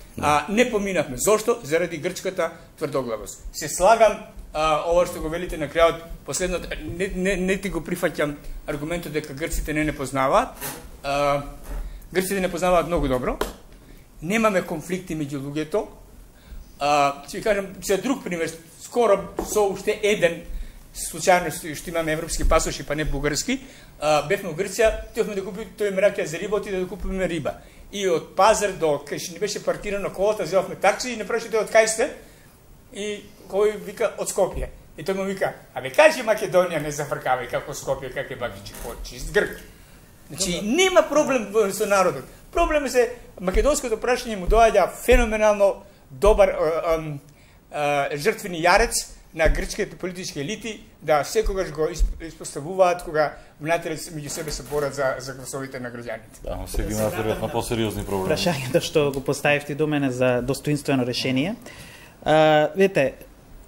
Не поминавме. Зошто? Заради грчката тврдоглавост. Се слагам ова што го велите на крајот, последното не ти го прифаќам аргументот дека грците не познаваат. Грците не познаваат многу добро. Немаме конфликти меѓу луѓето. Ќе ви кажам за друг пример, скоро со уште еден случајно што имаме европски пасоши, па не бугарски, бевме во Грција, тоевме да купиме, тој ме раќа за риба, отиде да купиме риба. И од пазар до кај што ни беше паркирано колата, зевавме такси и не праши тој од кај сте? И кој вика од Скопје. И тој му вика, абе кажи Македонија, не зафркавај како Скопје, как е бакичи, чист грк. Значи нема проблем со народот. Проблем се македонското прашање му доаѓа феноменално добар жртвени јарец на грчките политички елити, да секогаш го испоставуваат кога внатре меѓу себе се борат за гласовите на граѓаните. Да, но сега имаат веројатно посериозни проблеми. Прашањето што го поставивте до мене за достоинствено решение. Видите,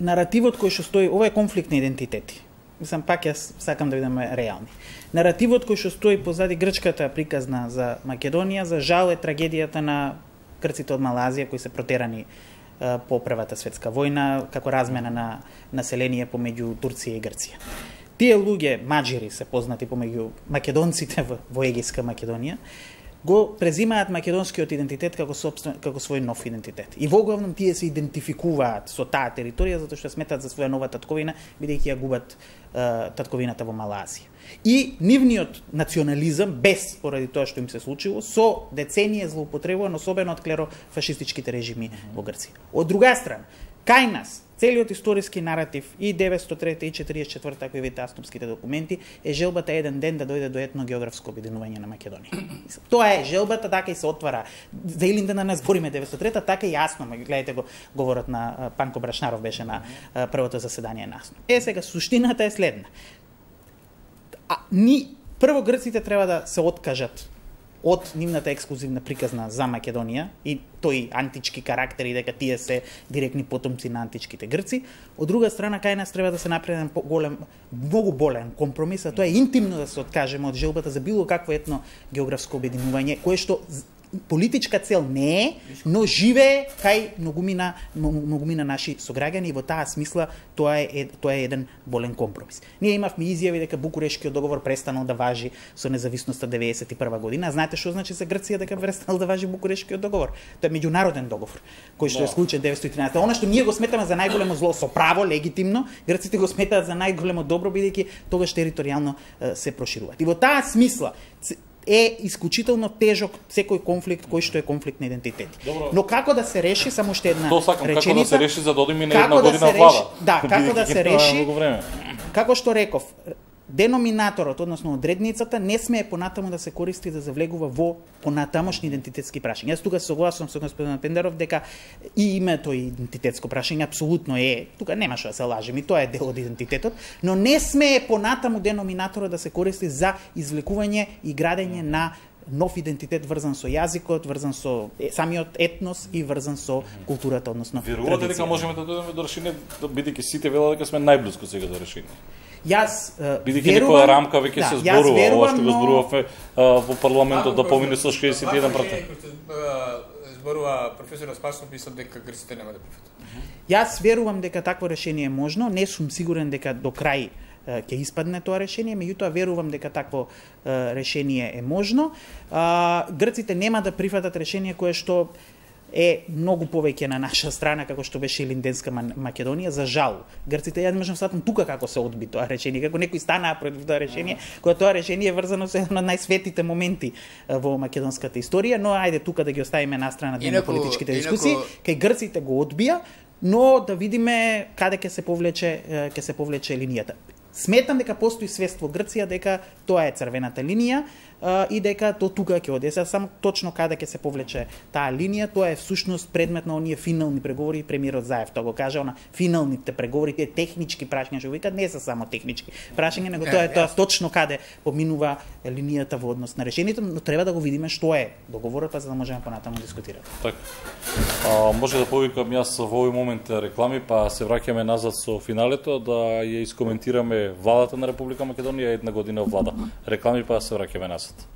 наративот кој што стои, ова е конфликт на идентитети. Мислам, пак јас сакам да бидеме реални. Наративот кој што стои позади грчката приказна за Македонија, за жал е трагедијата на грците од Малазија кои се протерани по Првата светска војна, како размена на население помеѓу Турција и Грција. Тие луѓе, маџири се познати помеѓу македонците во Егејска Македонија, го презимаат македонскиот идентитет како свој нов идентитет. И во главном тие се идентификуваат со таа територија затоа што сметат за своја нова татковина, бидејќи ја губат татковината во Малазија. И нивниот национализам, без поради тоа што им се случило, со деценија злоупотребуван, особено од клерофашистичките режими во Грција. Од друга страна, кај нас, целиот историски наратив и 903 и 44 ако видите Аступските документи е желбата еден ден да дојде до етногеографско обединување на Македонија. Тоа е желбата, така и се отвара. За Илиндена не збориме 903-та, така и јасно, гледате го говорот на Панко Брашнаров беше на првото заседание на АСНО. Сега суштината е следна. Прво грците треба да се откажат од нивната ексклузивна приказна за Македонија и тој антички карактери дека тие се директни потомци на античките грци. Од друга страна, кај нас треба да се направи многу болен компромис, а тоа е интимно да се откажеме од желбата за било какво етно географско обединување, кое што политичка цел не е, но живее кај многумина наши сограѓани и во таа смисла тоа е еден болен компромис. Ние имавме изјави дека Букурешкиот договор престанал да важи со независноста 91 година. Знаете што значи за Грција дека престанал да важи Букурешкиот договор? Тоа е меѓународен договор кој што е склучен 913. Она што ние го сметаме за најголемо зло со право, легитимно, грците го сметаат за најголемо добро бидејќи тогаш територијално се прошируваат. И во таа смисла е исклучително тежок секој конфликт кој што е конфликт на идентитети. Добро. Но како да се реши, само уште една реченица. Како да се реши за да одиме на една година влада? Да, како да се реши, како што реков, деноминаторот, односно одредницата, не смее понатаму да се користи да завлегува во понатамошни идентитетски прашања. Јас тука согласувам со господин Пендеров дека и името и идентитетско прашање апсолутно е, тука нема што да се лажеме, тоа е дел од идентитетот, но не смее понатаму деноминаторот да се користи за извлекување и градење на нов идентитет врзан со јазикот, врзан со самиот етнос и врзан со културата, односно верувате дека можеме да дојдеме до решение, бидејќи сите велат дека сме најблиску сега до решение? Јас бидејќи некоја рамка веќе се зборува, ова што го зборувавме во парламентот да помине со 61%. Зборува професор Спасов, мислам дека грците нема да прифатат. Јас верувам дека такво решение е можно, не сум сигурен дека до крај ќе испадне тоа решение, меѓутоа верувам дека такво решение е можно. Грците нема да прифатат решение кое што е многу повеќе на наша страна, како што беше Илинденска Македонија, за жал. Грците, ја не можам сватам тука како се одби тоа решение, како некои станаа против тоа решение, кога тоа решение е врзано со еден од најсветите моменти во македонската историја, но ајде тука да ги оставиме на страна политичките дискусии, кај грците го одбија, но да видиме каде ќе се повлече линијата. Сметам дека постои свест во Грција дека тоа е црвената линија и дека тоа тука ќе оди. Само точно каде ќе се повлече таа линија, тоа е всушност предмет на оние финални преговори, премиерот Заев тоа го кажа, она финалните преговори, тие технички прашања што викаат, не се само технички прашања, него тоа е тоа точно каде поминува линијата во однос на решението, но треба да го видиме што е договорот, за да можеме понатаму дискутираме. Така. Може да повикам јас во овој момент реклами, па се враќаме назад со финалето да ја искоментираме владата на Република Македонија, една година влада. Реклами, па се враќаме назад.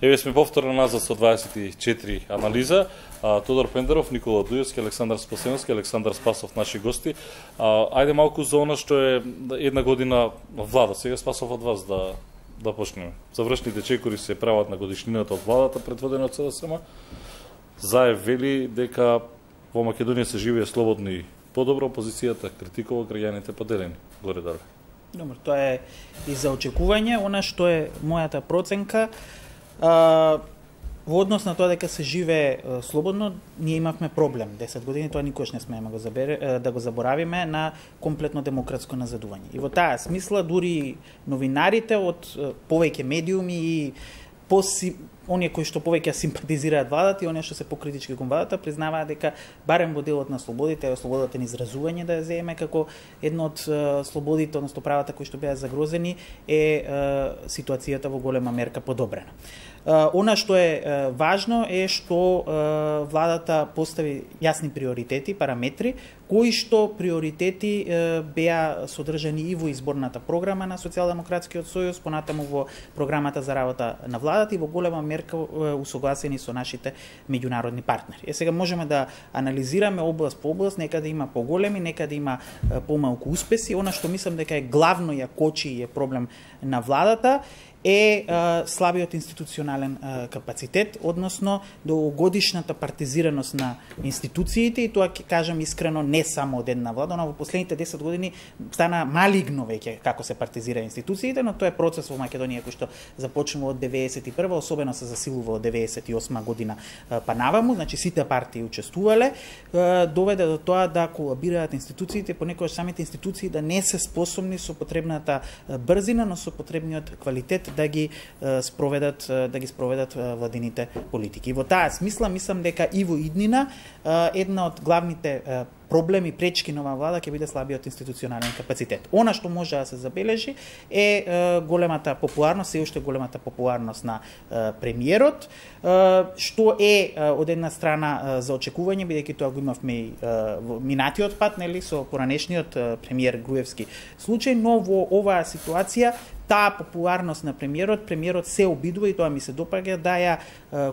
Еве сме повторно назад со 24 анализа. Тодор Пендеров, Никола Дујевски, Александар Спасеновски, Александар Спасов, наши гости. Ајде малку за она што е една година влада. Сега Спасов од вас да почнеме. Завршните чекори се прават на годишнината од владата предводена од СДСМ. Заев вели дека во Македонија се живее слободно и подобро, опозицијата критикува, граѓаните поделени. Горе-долу. Добро, тоа е и за очекување. Она што е мојата проценка, во однос на тоа дека се живее слободно, ние имавме проблем 10 години, тоа никош не смееме да го заборавиме, на комплетно демократско назадување. И во таа смисла дури новинарите од повеќе медиуми и оние кои што повеќе симпатизираат владата и оние што се покритички кон владата признаваат дека барем во делот на слободите, слободата на изразување да ја земеме како едно од слободите, односно правата кои што беа загрозени, е ситуацијата во голема мерка подобрена. Она што е важно е што владата постави јасни приоритети, параметри, кои што приоритети беа содржани и во изборната програма на Социјалдемократскиот сојуз, понатаму во програмата за работа на владата и во голема мерка усогласени со нашите меѓународни партнери. Сега можеме да анализираме област по област, некаде има поголеми, некаде има помалку успеси. Она што мислам дека е главно ја кочи и е проблем на владата е слабиот институционален капацитет, односно долгогодишната партизираност на институциите, и тоа ќе кажам искрено не само од една влада, но во последните 10 години стана малигно веќе како се партизира институциите, но тоа е процес во Македонија кој што започнува од 91, особено се засилува од 98 година па наваму, значи сите партии учествувале, доведе до тоа да колабираат институциите, понекогаш самите институции да не се способни со потребната брзина, но со потребниот квалитет да ги спроведат владините политики. И во таа смисла мислам дека и во иднина една од главните проблеми, пречки на оваа влада ќе биде слабиот институционален капацитет. Она што може да се забележи е големата популарност, се уште големата популарност на премиерот, што е од една страна за очекување, бидејќи тоа го имавме и во минатиот пат, нели, со поранешниот премиер Груевски случај, но во оваа ситуација таа популарност на премиерот се обидува, и тоа ми се допаѓа, да ја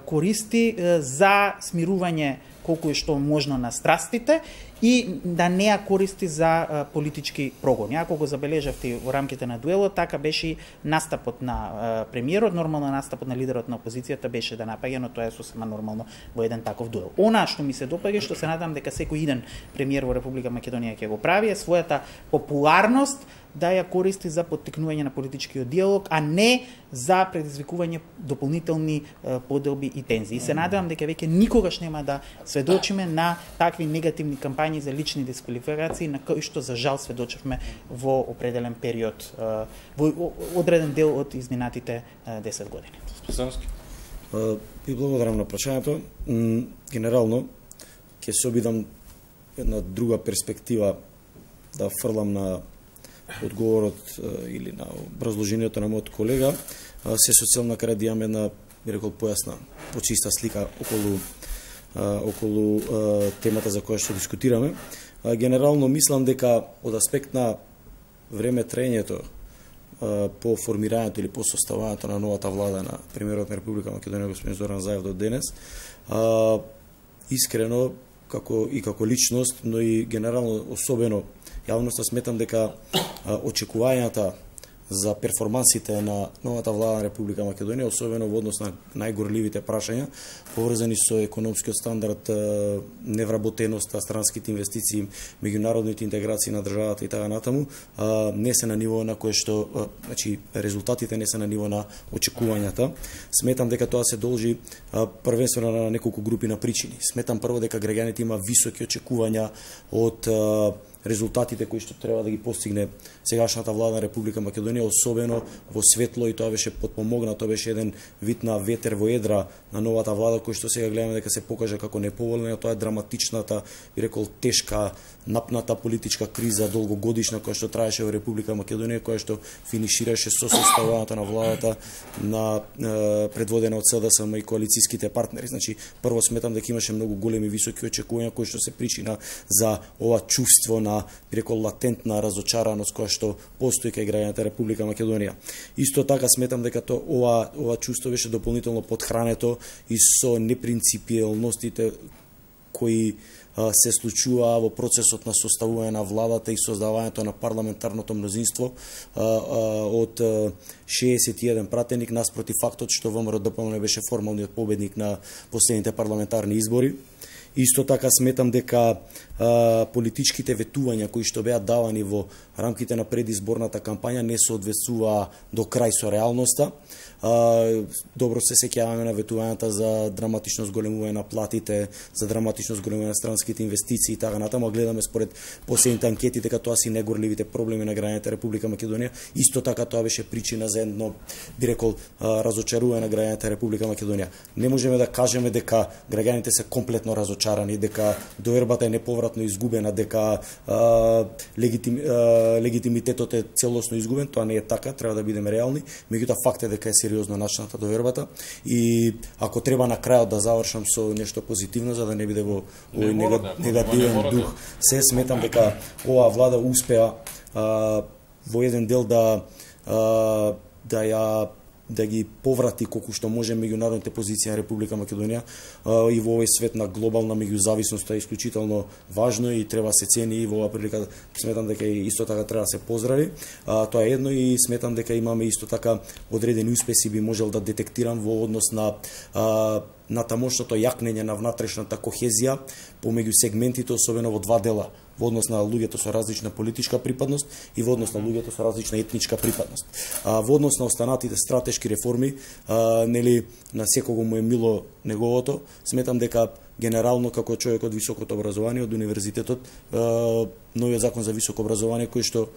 користи за смирување колку е што можно на страстите и да не ја користи за политички прогони. Ако го забележавте во рамките на дуелот, така беше настапот на премиерот, нормално настапот на лидерот на опозицијата беше да напаѓа, но тоа е сосема нормално во еден таков дуел. Она што ми се допаѓа, што се надам дека секој иден премиер во Република Македонија ќе го прави, е својата популарност да ја користи за поттикнување на политичкиот диалог, а не за предизвикување дополнителни поделби и тензии. И се надевам дека веќе никогаш нема да сведочиме на такви негативни кампањи за лични дисквалификации, на кои што за жал сведочевме во определен период, во одреден дел од изминатите 10 години. Спасеновски. Ви благодарам на прашањето. Генерално ќе се обидам една друга перспектива да фрлам на одговорот или на образложението на мојот колега. Се со цел на крај да имаме една, би рекол, појасна, почиста слика околу темата за која што дискутираме. Генерално мислам дека од аспект на време траењето по формирањето или по составувањето на новата влада на премиерот на Република Македонија господин Зоран Заев до денес, искрено како личност, но и генерално особено јавноста, сметам дека очекувањата за перформансите на новата влада на Република Македонија, особено во однос на најгорливите прашања, поврзани со економскиот стандард, невработеноста, странските инвестиции, меѓународните интеграции на државата и така натаму, не се на ниво на кое што, значи, резултатите не се на ниво на очекувањата. Сметам дека тоа се должи првенствено на неколку групи на причини. Сметам прво дека граѓаните има високи очекувања од резултатите кои што треба да ги постигне сегашната влада на Република Македонија, особено во светло, и тоа беше потпомогнато, тоа беше еден вид на ветер во едра на новата влада, кој што сега гледаме дека се покажа како неповолна, тоа е драматичната, би рекол, тешка, напната политичка криза, долгогодишна, која што траеше во Република Македонија, која што финишираше со составувањето на владата на предводена од СДСМ и коалицијските партнери. Значи, прво сметам дека имаше многу големи високи очекувања кои што се причина за ова чувство на на рекол латентна разочараност која што постои кај граѓаните Република Македонија. Исто така сметам дека ова чувство беше дополнително подхрането и со непринципиелностите кои се случува во процесот на составување на владата и создавањето на парламентарното мнозинство од 61 пратеник наспроти фактот што ВМРО ДПМН беше формалниот победник на последните парламентарни избори. Исто така сметам дека политичките ветувања кои што беа давани во рамките на предизборната кампања не соодветствуваа до крај со реалноста. Добро се сеќаваме на ветувањата за драматично зголемување на платите, за драматично зголемување на странските инвестиции и така натаму. Гледаме според последните анкети дека тоа си најгорливите проблеми на граѓаните Република Македонија. Исто така тоа беше причина за едно, би рекол, разочарување на граѓаните Република Македонија. Не можеме да кажеме дека граѓаните се комплетно разочарани, дека довербата е неповратно изгубена, дека легитимитетот е целосно изгубен. Тоа не е така, треба да бидеме реални. Меѓутоа факт е дека е сериозно начината довербата и ако треба на крајот да завршам со нешто позитивно за да не биде во овој негативен дух, се сметам дека оваа влада успеа во еден дел да ги поврати колку што може меѓународните позиции на Република Македонија и во овој свет на глобална меѓузависност е исклучително важно и треба се цени и во оваа прилика сметам дека исто така треба да се поздрави. Тоа е едно и сметам дека имаме исто така одредени успеси би можел да детектирам во однос на тамошното јакнење на внатрешната кохезија помеѓу сегментите, особено во два дела, во однос на луѓето со различна политичка припадност и во однос на луѓето со различна етничка припадност. Во однос на останатите стратешки реформи, нели на секого му е мило неговото, сметам дека генерално како човек од високото образование, од универзитетот, новиот закон за високо образование кој што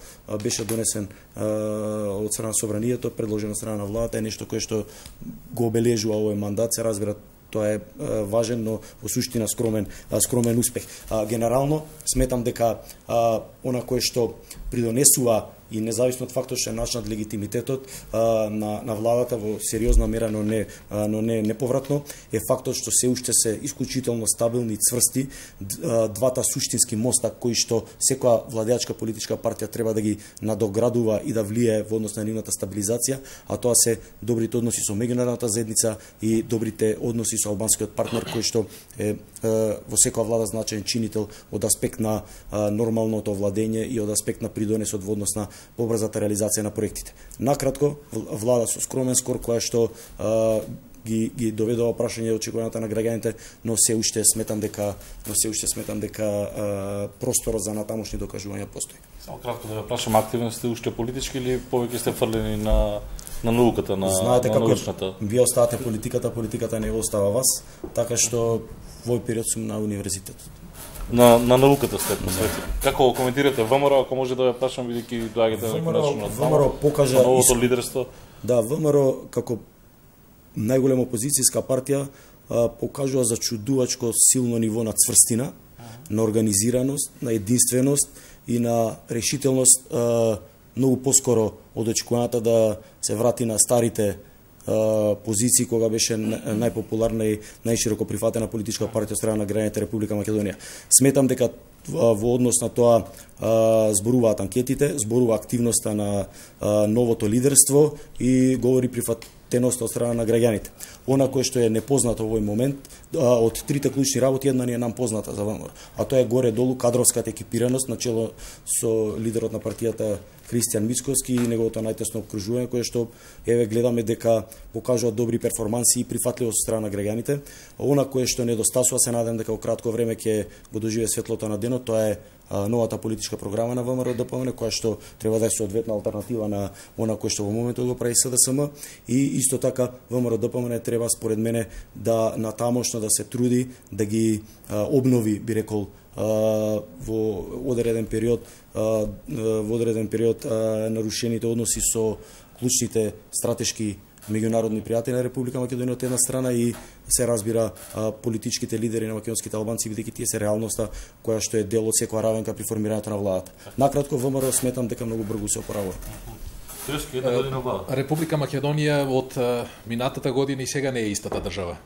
беше донесен од страна на собранието, предложено од страна на владата, е нешто кое што го обележува овој мандат, се разбира. Тоа е важен, но во суштина скромен успех. Генерално сметам дека она кое што придонесува и независно од фактот што е начнат легитимитетот на владата во сериозна мера, но не неповратно, е фактот што се уште се исклучително стабилни и цврсти двата суштински моста кои што секоја владеачка политичка партија треба да ги надоградува и да влие во однос на нивната стабилизација, а тоа се добрите односи со меѓународната заедница и добрите односи со албанскиот партнер кој што е во секоја влада значаен чинител од аспект на нормалното владење и од аспект на придонесот во однос на побрзата реализација на проектите. Накратко, влада со скромен скор која што ги доведува прашање очекувањата на граѓаните, но се уште сметам дека просторот за натамошни докажувања постои. Само кратко да ве прашам, активен сте уште политички или повеќе сте фрлени на науката, на научната? Вие оставате политиката не го остава вас, така што во овој период сум на универзитетот. На науката сте посветени. Како коментирате ВМРО, ако може да ве прашам, бидејќи доаѓате на конечно ВМРО покажа новото лидерство? Да, ВМРО како најголема опозицијска партија покажува зачудувачко силно ниво на цврстина, на организираност, на единственост и на решителност, многу поскоро од очекувањата да се врати на старите позиции кога беше најпопуларна и најшироко прифатена политичка партија од страна на граѓаните Република Македонија. Сметам дека во однос на тоа зборуваат анкетите, зборува активноста на новото лидерство и говори прифатеноста од страна на граѓаните. Она кое што е непознато во овој момент, од трите клучни работи, една ни е нам позната за ВМРО, а тоа е горе-долу кадровската екипираност, начело со лидерот на партијата Христијан Мицковски и неговото најтесно окружување, кое што гледаме дека покажува добри перформанси и прифатливост од страна на граѓаните. Она кое што недостасува, се надам дека во кратко време ќе го доживее светлото на денот, тоа е новата политичка програма на ВМРО ДПМН, која што треба да е соодветна алтернатива на она кое што во моментот го прави СДСМ, и исто така ВМРО ДПМН треба според мене да натамошно да се труди да ги обнови, би рекол, во одреден период нарушените односи со клучните стратешки меѓународни пријатели на Република Македонија од една страна и се разбира политичките лидери на македонските албанци, бидејќи тие се реалноста која што е дел од секоја равенка при формирањето на владата. Накратко, ВМРО сметам дека многу брзо се опоравува. Република Македонија од минатата година и сега не е истата држава.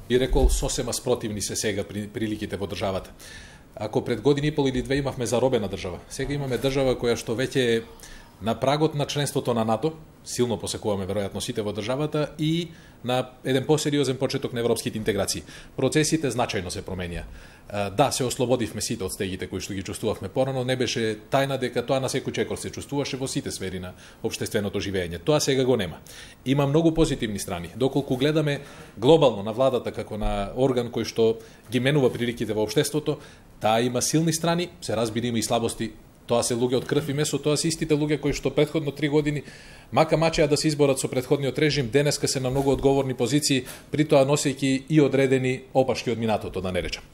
Би рекол, сосема спротивни се сега приликите во државата. Ако пред година и пол или две имавме заробена држава, сега имаме држава која што веќе е на прагот на членството на НАТО, силно посекуваме веројатно сите во државата, и на еден посериозен почеток на европските интеграции. Процесите значајно се променија. Да, се ослободивме сите од стегите кои што ги чувствувавме порано, не беше тајна дека тоа на секој чекор се чувствуваше во сите сфери на општественото живење. Тоа сега го нема. Има многу позитивни страни. Доколку гледаме глобално на владата како на орган кој што ги менува приликите во општеството, таа има силни страни, се разбира има и слабости. Тоа се луѓе од крв и месо, тоа се истите луѓе кои што претходно 3 години мака мачеа да се изборат со претходниот режим, денеска се на многу одговорни позиции, при тоа носејќи и одредени опашки од минатото, да не речам.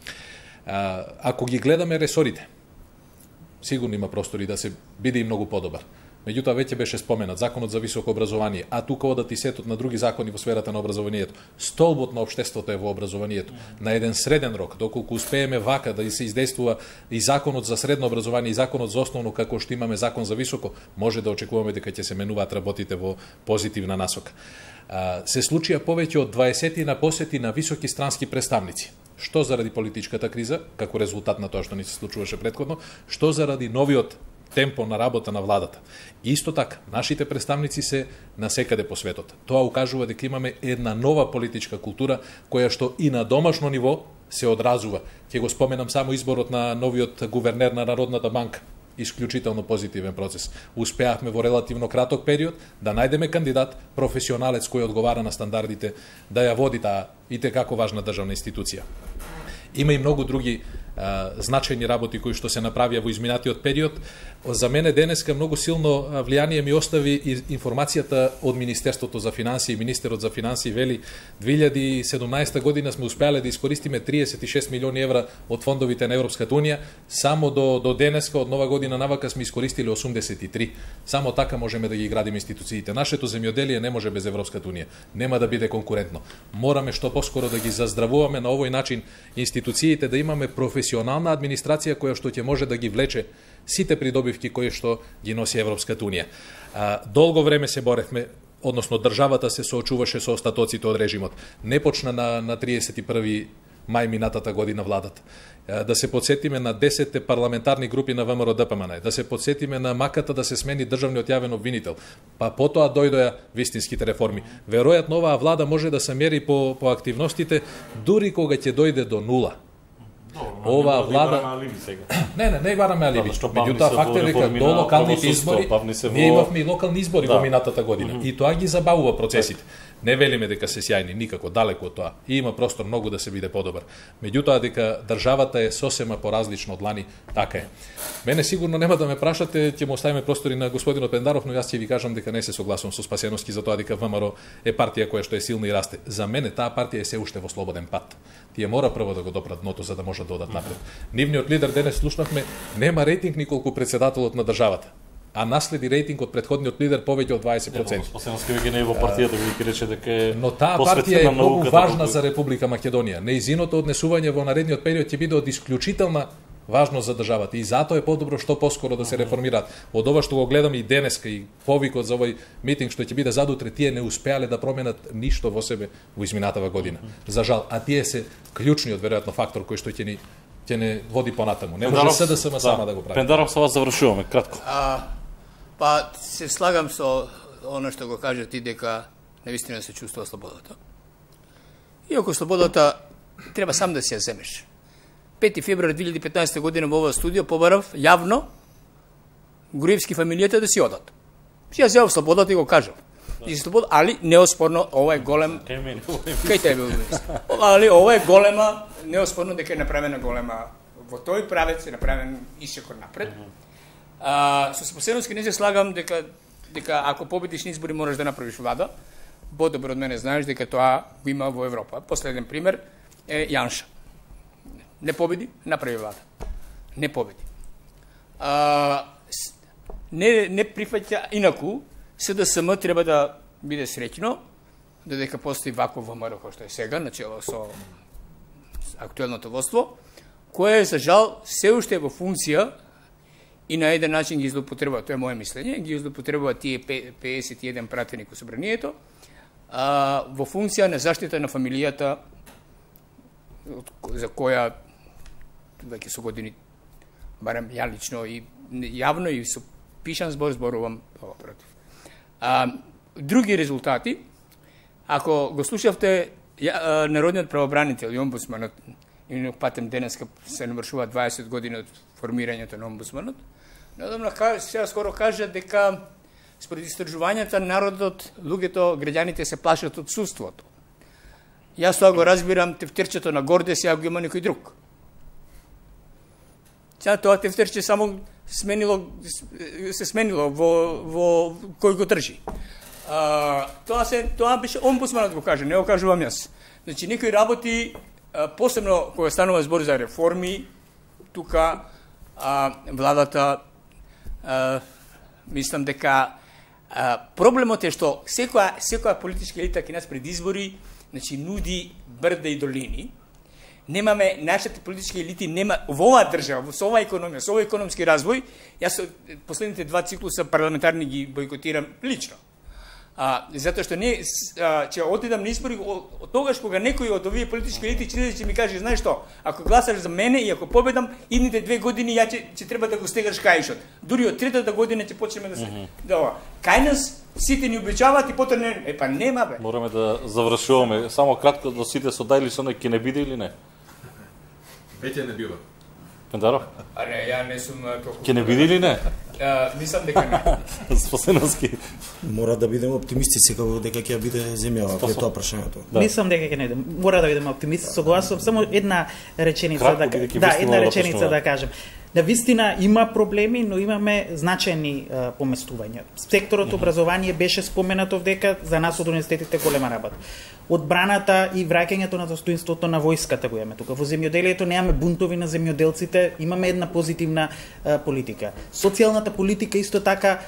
Ако ги гледаме ресорите, сигурно има простори да се биде и многу подобар. Меѓутоа веќе беше споменат законот за високо образование, а тука одат и сетот на други закони во сферата на образованието. Столбот на општеството е во образованието. На еден среден рок, доколку успееме вака да се издействува и законот за средно образование и законот за основно како што имаме закон за високо, може да очекуваме дека ќе се менуваат работите во позитивна насока. Се случија повеќе од 20 на посети на високи странски представници. Што заради политичката криза, како резултат на тоа што ни се случуваше претходно, што заради новиот темпо на работа на владата. Исто така, нашите представници се насекаде по светот. Тоа укажува дека имаме една нова политичка култура, која што и на домашно ниво се одразува. Ќе го споменам само изборот на новиот гувернер на Народната банка. Исклучително позитивен процес. Успеавме во релативно краток период да најдеме кандидат, професионалец кој одговара на стандардите, да ја води таа и како важна државна институција. Има и многу други значајни работи кои што се направија во изминатиот период. За мене денеска многу силно влијание ми остави информацијата од Министерството за финансии. Министерот за финансии вели 2017 година сме успеале да искористиме 36 милиони евра од фондовите на Европската унија. Само до денеска, од нова година навака, сме искористили 83. Само така можеме да ги градиме институциите. Нашето земјоделие не може без Европската унија. Нема да биде конкурентно. Мораме што поскоро да ги заздравуваме на овој начин институциите, да имаме професионална администрација која што ќе може да ги влече сите придобивки кои што ги носи Европската унија. Долго време се боревме, односно државата се соочуваше со остатоците од режимот. Не почна на 31 мај минатата година владата. Да се подсетиме на 10 парламентарни групи на ВМРО ДПМН, да се подсетиме на маката да се смени државниот јавен обвинител, па потоа дојдоа вистинските реформи. Веројатно оваа влада може да се мери по активностите дури кога ќе дојде до нула. Оваа влада не бараме алиби. Меѓутоа факт е дека до локалните избори ние имавме и локални избори во минатата година и тоа ги забавува процесите. Не велиме дека се сјајни, никако, далеку од тоа. И има простор многу да се биде подобар. Меѓутоа дека државата е сосема поразлична од лани, така е. Мене сигурно нема да ме прашате, ќе му оставиме простори на господинот Пендаров, но јас ќе ви кажам дека не се согласувам со Спасеновски за тоа дека ВМРО е партија која што е силна и расте. За мене таа партија е се уште во слободен пат. Тие мора прво да го допрат дното за да може да одат напред. Нивниот лидер денес слушнавме, нема рейтинг николку претседателот на државата, а наследи рейтинг од претходниот лидер повеќе од 20%. Спасеновски веќе не е во партијата, ви рече дека е. Но таа партија е многу важна за Република Македонија. Неизиното однесување во наредниот период ќе биде од исклучителна важност за државата и затоа е подобро што поскоро да се реформираат. Од ова што го гледам и денеска и повикот за овој митинг што ќе биде задутре, тие не успеале да променат ништо во себе во изминатава година. За жал, а тие се клучниот веројатно фактор кој што ќе не води понатаму. Не може СДСМ сама да го прави. Пендаров, со вас завршуваме кратко. Па се слагам со оно што го кажа ти дека навистина се чувствува слободата. Иако слободата треба сам да си ја земеш. 5 февруари 2015 година во ова студио побарав јавно Груевски фамилијата да си одат. Си ја земав слободата и го кажав. Али неоспорно ова е голем. Кај тебе али ова е голема, неоспорно дека е направена голема во тој правец е направен исекор напред. Со Спасеновски не се слагам дека ако победиш на избори можеш да направиш влада. Подобро од мене знаеш дека тоа го има во Европа. Последен пример е Јанша. Не победи, направи влада. Не победи. Не прифаќа инаку, СДСМ треба да биде среќно, додека постои вакво ВМРО кој што е сега, начело со актуелното водство, кое за жал се уште е во функција и на еден начин ги злоупотребува, тоа е моје мислење, ги злоупотребува тие 51 пратеник во собранието, во функција на заштита на фамилијата за која веќе со години, барем ја лично и јавно и со пишан зборувам против. Други резултати, ако го слушавте народниот правобранител и омбудсманот, и патем денеска се навршува 20 години од формирањето на омбудсманот, надамна сега скоро кажа дека според истражувањата народот, луѓето, граѓаните се плашат од судството. Јас тоа го разбирам, тефтерчето на горде сега го има некој друг. Сега тоа тефтерче само се сменило во кој го држи. Тоа беше омбудсманот го кажа, не го кажувам јас. Значи, некои работи, посебно кога станува збор за реформи, тука владата, мислам дека проблемот е што секоја политичка елита кај нас пред избори, значи, нуди брда и долини. Немаме, нашите политички елити нема, во оваа држава, со оваа економија, со овој економски развој, јас последните 2 циклуса парламентарни ги бойкотирам лично. Затоа што не ќе одидам на избори тогаш кога некој од овие политички елити ќе ми каже, знаеш што, ако гласаш за мене и ако победам, идните 2 години ја ќе треба да го стегаш каишот. Дури од третата година ќе почнеме да се кај нас сите ни обичаваат и потоа не, па нема бе. Мораме да завршуваме. Само кратко до сите со да или со не, ќе не биде или не? Веќе не бива. Пендаров? Не, ја не сум толку. Ќе не биде или не? Мислам дека не. Спасеновски. Мора да бидеме оптимисти секако дека ќе биде земјава, кај тоа прашањето. Мислам дека ќе не биде. Мора да бидеме оптимисти, согласувам. Само една реченица една реченица да кажем. На вистина има проблеми, но имаме значајни поместувања. Секторот образование беше споменато дека за нас од универзитетите голема работа. Одбраната и враќањето на достоинството на војската го имаме тука. Во земјоделието немаме бунтови на земјоделците, имаме една позитивна политика. Социјалната политика исто така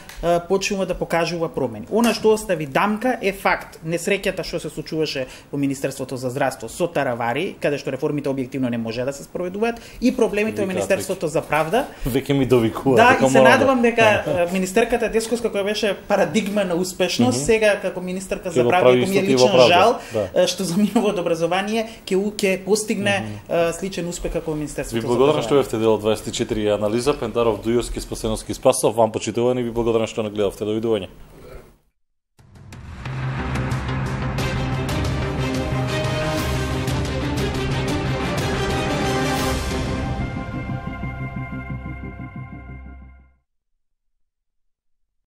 почнува да покажува промени. Она што остави дамка е факт. Несреќата што се случуваше во Министерството за здравство со таравари, каде што реформите објективно не може да се спроведуваат, и проблемите во Министерството за правда. Веќе ми довикува. Да, и се надевам дека министерката Десковска, која беше парадигма на успешност, сега како министерка за правда, кој ми е личен жал, што заминува од образование, ќе постигне сличен успех како Министерството за благодарам што бевте дел од 24 анализа. Пендаров, Дујовски, Спасеновски, Спасов, вам почитувани, ви благодарам што нагледавте. Довидување.